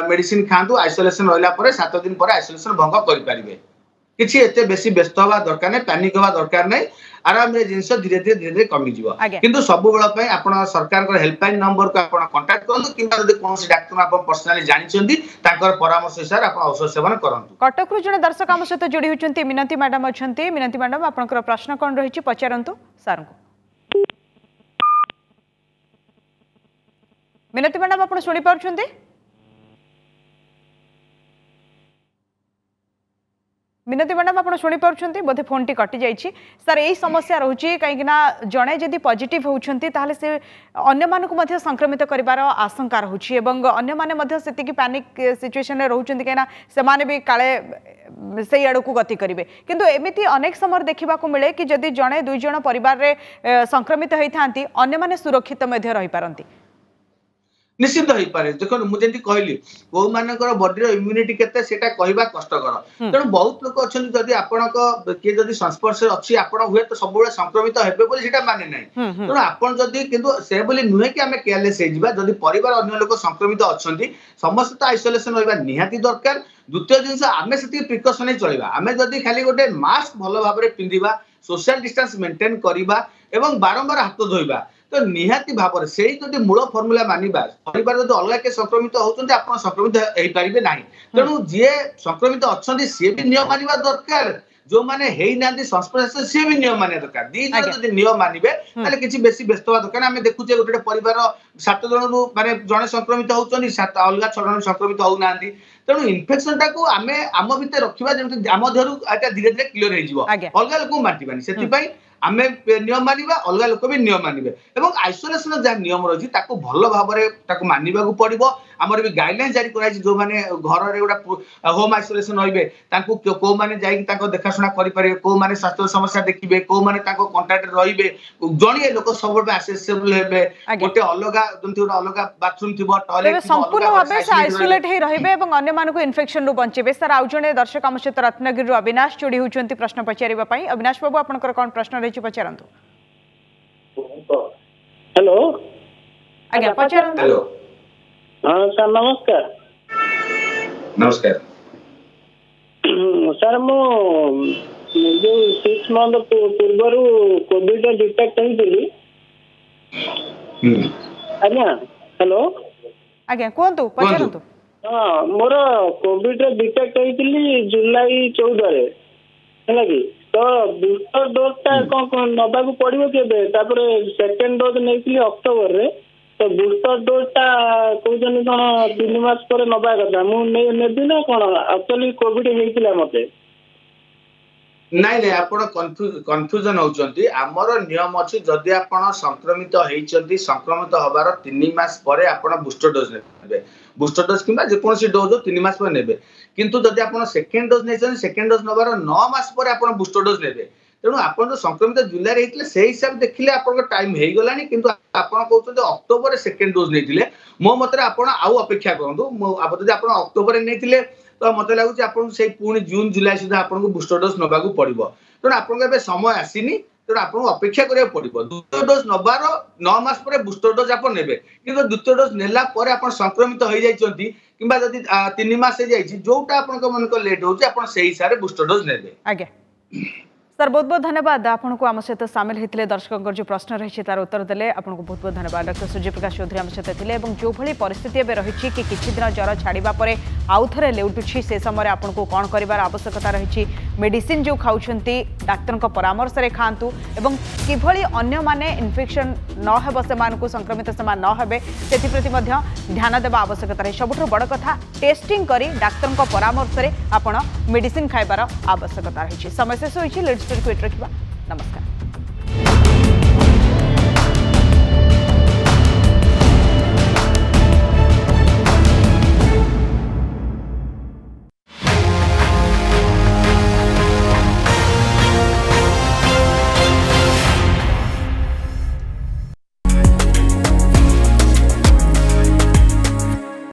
ମେଡିସିନ ଖାଆନ୍ତୁ, ଆଇସୋଲେସନ ରହିଲା ପରେ 7 ଦିନ ପରେ ଆଇସୋଲେସନ ଭଙ୍ଗ କରିପାରିବେ। କିଛି ଏତେ ବେଶୀ ବ୍ୟସ୍ତ ହବା ଦରକାର ନାହିଁ, ପ୍ୟାନିକ ହବା ଦରକାର ନାହିଁ। ଆରାମରେ ଜିନିଷ ଧୀରେ ଧୀରେ ଧୀରେ ଧୀରେ କମିଯିବ। କିନ୍ତୁ ସବୁବେଳ ପାଇଁ ଆପଣ ସରକାରଙ୍କର ହେଲ୍ପଲାଇନ ନମ୍ବରକୁ ଆପଣ କଣ୍ଟାକ୍ଟ କରନ୍ତୁ କିମ୍ବା ଯଦି କୌଣସି ଡାକ୍ତର ଆପଣ ପର୍ସନାଲି ଜାଣିଛନ୍ତି, ତାଙ୍କର ପରାମର୍ଶ ହିସାବରେ ଆପଣ ଔଷଧ ସେବନ କରନ୍ତୁ। କଟକରୁ ଜଣେ ଦର୍ଶକ ଆମ ସହିତ ଯୋଡ଼ି ହେଉଛନ୍ତି, ମିନତି ମ୍ୟାଡାମ ଅଛନ୍ତି। ମିନତି ମ୍ୟାଡାମ, ଆପଣଙ୍କର ପ୍ରଶ୍ନ କଣ ରହିଛି, ପଚାରନ୍ତୁ ସାର୍ଙ୍କୁ। ମିନତି ମ୍ୟାଡାମ, ଆପଣ ଶୁଣିପାରୁଛନ୍ତି? ମିନତି ମ୍ୟାଡାମ, ଆପଣ ଶୁଣିପାରୁଛନ୍ତି? ବୋଧେ ଫୋନ୍ଟି କଟିଯାଇଛି। ସାର୍, ଏଇ ସମସ୍ୟା ରହୁଛି, କାହିଁକିନା ଜଣେ ଯଦି ପଜିଟିଭ୍ ହେଉଛନ୍ତି, ତାହେଲେ ସେ ଅନ୍ୟମାନଙ୍କୁ ମଧ୍ୟ ସଂକ୍ରମିତ କରିବାର ଆଶଙ୍କା ରହୁଛି ଏବଂ ଅନ୍ୟମାନେ ମଧ୍ୟ ସେତିକି ପ୍ୟାନିକ୍ ସିଚୁଏସନରେ ରହୁଛନ୍ତି, କାହିଁକିନା ସେମାନେ ବି କାଳେ ସେଇ ଆଡ଼କୁ ଗତି କରିବେ। କିନ୍ତୁ ଏମିତି ଅନେକ ସମୟରେ ଦେଖିବାକୁ ମିଳେ କି ଯଦି ଜଣେ ଦୁଇ ଜଣ ପରିବାରରେ ସଂକ୍ରମିତ ହେଇଥାନ୍ତି, ଅନ୍ୟମାନେ ସୁରକ୍ଷିତ ମଧ୍ୟ ରହିପାରନ୍ତି। ନିଶ୍ଚିତ ହେଇପାରେ। ଦେଖନ୍ତୁ, ମୁଁ ଯେମିତି କହିଲି, କୋଉମାନଙ୍କର ବଡିର ଇମ୍ୟୁନିଟି କେତେ, ସେଇଟା କହିବା କଷ୍ଟକର। ତେଣୁ ବହୁତ ଲୋକ ଅଛନ୍ତି, ଯଦି ଆପଣଙ୍କ କିଏ ଯଦି ସଂସ୍ପର୍ଶରେ ଅଛି, ଆପଣ ହୁଏତ ସବୁବେଳେ ସଂକ୍ରମିତ ହେବେ ବୋଲି ସେଇଟା ମାନେ ନାହିଁ। ତେଣୁ ଆପଣ ଯଦି, କିନ୍ତୁ ସେ ବୋଲି ନୁହେଁ କି ଆମେ କେୟାରଲେସ୍ ହେଇଯିବା। ଯଦି ପରିବାର ଅନ୍ୟ ଲୋକ ସଂକ୍ରମିତ ଅଛନ୍ତି, ସମସ୍ତେ ତ ଆଇସୋଲେସନ ରହିବା ନିହାତି ଦରକାର। ଦ୍ୱିତୀୟ ଜିନିଷ, ଆମେ ସେତିକି ପ୍ରିକସନ ହେଇ ଚଳିବା। ଆମେ ଯଦି ଖାଲି ଗୋଟେ ମାସ୍କ ଭଲ ଭାବରେ ପିନ୍ଧିବା, ସୋସିଆଲ ଡିଷ୍ଟାନ୍ସ ମେଣ୍ଟେନ କରିବା ଏବଂ ବାରମ୍ବାର ହାତ ଧୋଇବା, ତ ନିହାତି ଭାବରେ ସେଇ ଯଦି ମୂଳ ଫର୍ମୁଲା ମାନିବା, ପରିବାର ଯଦି ଅଲଗା କିଏ ସଂକ୍ରମିତ ହଉଛନ୍ତି, ଆପଣ ସଂକ୍ରମିତ ହେଇପାରିବେ ନାହିଁ। ତେଣୁ ଯିଏ ସଂକ୍ରମିତ ଅଛନ୍ତି, ସିଏ ବି ନିୟମ ମାନିବା ଦରକାର। ଯୋଉମାନେ ହେଇନାହାନ୍ତି ସଂସ୍ପର୍ଶ, ସିଏ ବି ନିୟମ ମାନିବା ଦରକାର। ଦି ଜଣ ଯଦି ନିୟମ ମାନିବେ, ତାହେଲେ କିଛି ବେଶୀ ବ୍ୟସ୍ତ ହବା ଦରକାର। ଆମେ ଦେଖୁଛେ ଗୋଟେ ଗୋଟେ ପରିବାର 7 ଜଣରୁ ମାନେ ଜଣେ ସଂକ୍ରମିତ ହଉଛନ୍ତି, 7 ଅଲଗା 6 ଜଣ ସଂକ୍ରମିତ ହଉନାହାନ୍ତି। ତେଣୁ ଇନଫେକ୍ସନ ଟାକୁ ଆମେ ଆମ ଭିତରେ ରଖିବା, ଯେମିତି ଆମ ଦେହରୁ ଏଟା ଧୀରେ ଧୀରେ କ୍ଲିୟର ହେଇଯିବ, ଅଲଗା ଲୋକଙ୍କୁ ବାଣ୍ଟିବାନି। ସେଥିପାଇଁ ଆମେ ନିୟମ ମାନିବା, ଅଲଗା ଲୋକ ବି ନିୟମ ମାନିବେ ଏବଂ ଆଇସୋଲେସନ ଯାହା ନିୟମ ରହିଛି ତାକୁ ଭଲ ଭାବରେ ତାକୁ ମାନିବାକୁ ପଡିବ। ଆମର ବି ଗାଇଡଲାଇନ ଜାରି କରାଯାଇଛି, ଯୋଉମାନେ ଘରରେ ଗୋଟେ ହୋମ ଆଇସୋଲେସନ ରହିବେ, ତାଙ୍କୁ କୋଉମାନେ ଯାଇକି ତାଙ୍କ ଦେଖାଶୁଣା କରିପାରିବେ, କୋଉମାନେ ସ୍ୱାସ୍ଥ୍ୟ ସମସ୍ୟା ଦେଖିବେ, କୋଉମାନେ ତାଙ୍କ କଣ୍ଟାକ୍ଟରେ ରହିବେ, ଜଣିଏ ଲୋକ ସବୁବେଳେ ଆସେସିବଲ ହେବେ, ଗୋଟେ ଅଲଗା ଯେମିତି ଗୋଟେ ଅଲଗା ବାଥରୁମ ଥିବ, ଟଏଲେଟ ଥିବ, ସମ୍ପୂର୍ଣ୍ଣ ଭାବେ ସେ ଆଇସୋଲେଟ ହେଇ ରହିବେ ଏବଂ ଅନ୍ୟମାନଙ୍କୁ ଇନଫେକ୍ସନରୁ ବଞ୍ଚେଇବେ। ସାର୍, ଆଉ ଜଣେ ଦର୍ଶକ ଆମ ସହିତ ରତ୍ନଗିରିରୁ ଅବିନାଶ ଯୋଡ଼ି ହେଉଛନ୍ତି ପ୍ରଶ୍ନ ପଚାରିବା ପାଇଁ। ଅବିନାଶ ବାବୁ, ଆପଣଙ୍କର କ'ଣ ପ୍ରଶ୍ନ ରହିଛି ପଚାରନ୍ତୁ। ହ୍ୟାଲୋ। ଆଜ୍ଞା, ପଚାରନ୍ତୁ। ହ୍ୟାଲୋ। ହଁ ସାର୍, ନମସ୍କାର। ନମସ୍କାର ସାର୍। ମୁଁ ଯୋଉ 6 ମନ୍ଥ ପୂର୍ବରୁ କୋଭିଡ ଡିଟେକ୍ଟ ହେଇଥିଲି ଆଜ୍ଞା। ହ୍ୟାଲୋ। ଆଜ୍ଞା, କୁହନ୍ତୁ, ପଚାରନ୍ତୁ। ହଁ, ମୋର କୋଭିଡ ଡିଟେକ୍ଟ ହେଇଥିଲି ଜୁଲାଇ 14ରେ, ହେଲା କି? ତ ବୁଷ୍ଟର ଡୋଜ ଟା କଣ ନବାକୁ ପଡିବ କେବେ? ତାପରେ ସେକେଣ୍ଡ ଡୋଜ ନେଇଥିଲି ଅକ୍ଟୋବରରେ। ତ ବୁଷ୍ଟର ଡୋଜ ଟା କହୁଛନ୍ତି କଣ 3 ମାସ ପରେ ନବା କଥା, ମୁଁ ନେବି ନା କଣ? ଆକ୍ଚୁଆଲି କୋଭିଡ ହେଇଥିଲା ମତେ। ନାଇଁ ନାଇଁ, ଆପଣ କନଫ୍ୟୁଜନ ହଉଛନ୍ତି। ଆମର ନିୟମ ଅଛି, ଯଦି ଆପଣ ସଂକ୍ରମିତ ହେଇଛନ୍ତି, ସଂକ୍ରମିତ ହବାର 3 ମାସ ପରେ ଆପଣ ବୁଷ୍ଟର ଡୋଜ ନେବେ। ବୁଷ୍ଟର ଡୋଜ କିମ୍ବା ଯେକୌଣସି ଡୋଜ 3 ମାସ ପରେ ନେବେ। କିନ୍ତୁ ଯଦି ଆପଣ ସେକେଣ୍ଡ ଡୋଜ ନେଇଛନ୍ତି, ସେକେଣ୍ଡ ଡୋଜ ନେବାର 9 ମାସ ପରେ ଆପଣ ବୁଷ୍ଟର ଡୋଜ ନେବେ। ତେଣୁ ଆପଣ ଯୋଉ ସଂକ୍ରମିତ ଜୁଲାଇରେ ହେଇଥିଲେ, ସେଇ ହିସାବ ଦେଖିଲେ ଆପଣଙ୍କ ଟାଇମ ହେଇଗଲାଣି। କିନ୍ତୁ ଆପଣ କହୁଛନ୍ତି ଅକ୍ଟୋବରରେ ସେକେଣ୍ଡ ଡୋଜ ନେଇଥିଲେ। ମୋ ମତରେ ଆପଣ ଆଉ ଅପେକ୍ଷା କରନ୍ତୁ। ଯଦି ଆପଣ ଅକ୍ଟୋବରରେ ନେଇଥିଲେ, ତ ମତେ ଲାଗୁଛି ଆପଣଙ୍କୁ ସେଇ ପୁଣି ଜୁନ ଜୁଲାଇ ସୁଦ୍ଧା ଆପଣଙ୍କୁ ବୁଷ୍ଟର ଡୋଜ ନେବାକୁ ପଡିବ। ତେଣୁ ଆପଣଙ୍କ ଏବେ ସମୟ ଆସିନି, ତେଣୁ ଆପଣଙ୍କୁ ଅପେକ୍ଷା କରିବାକୁ ପଡିବ। ଦ୍ୱିତୀୟ ଡୋଜ ନେବାର 9 ମାସ ପରେ ବୁଷ୍ଟର ଡୋଜ ଆପଣ ନେବେ। କିନ୍ତୁ ଦ୍ୱିତୀୟ ଡୋଜ ନେଲା ପରେ ଆପଣ ସଂକ୍ରମିତ ହେଇଯାଇଛନ୍ତି କିମ୍ବା ଯଦି 3 ମାସ ହେଇଯାଇଛି, ଯୋଉଟା ଆପଣଙ୍କ ମନେକର ଲେଟ୍ ହଉଛି, ଆପଣ ସେଇ ହିସାବରେ ବୁଷ୍ଟର ଡୋଜ ନେବେ। ଆଜ୍ଞା ସାର୍, ବହୁତ ବହୁତ ଧନ୍ୟବାଦ ଆପଣଙ୍କୁ, ଆମ ସହିତ ସାମିଲ ହୋଇଥିଲେ, ଦର୍ଶକଙ୍କର ଯେଉଁ ପ୍ରଶ୍ନ ରହିଛି ତାର ଉତ୍ତର ଦେଲେ, ଆପଣଙ୍କୁ ବହୁତ ବହୁତ ଧନ୍ୟବାଦ। ଡକ୍ଟର ସୂର୍ଯ୍ୟପ୍ରକାଶ ଚୌଧୁରୀ ଆମ ସହିତ ଥିଲେ ଏବଂ ଯେଉଁଭଳି ପରିସ୍ଥିତି ଏବେ ରହିଛି କି କିଛି ଦିନ ଜ୍ୱର ଛାଡ଼ିବା ପରେ ଆଉ ଥରେ ଲେଉଟୁଛି, ସେ ସମୟରେ ଆପଣଙ୍କୁ କ'ଣ କରିବାର ଆବଶ୍ୟକତା ରହିଛି, ମେଡିସିନ ଯେଉଁ ଖାଉଛନ୍ତି ଡାକ୍ତରଙ୍କ ପରାମର୍ଶରେ ଖାଆନ୍ତୁ ଏବଂ କିଭଳି ଅନ୍ୟମାନେ ଇନଫେକ୍ସନ୍ ନ ହେବ, ସେମାନଙ୍କୁ ସଂକ୍ରମିତ ସେମାନେ ନ ହେବେ, ସେଥିପ୍ରତି ମଧ୍ୟ ଧ୍ୟାନ ଦେବା ଆବଶ୍ୟକତା ରହିଛି। ସବୁଠାରୁ ବଡ଼ କଥା, ଟେଷ୍ଟିଂ କରି ଡାକ୍ତରଙ୍କ ପରାମର୍ଶରେ ଆପଣ ମେଡିସିନ ଖାଇବାର ଆବଶ୍ୟକତା ରହିଛି। ସମୟ ଶେଷ ହୋଇଛି, ଲିଡ୍ ଷ୍ଟୋରିକୁ ଏଠି ରଖିବା। ନମସ୍କାର।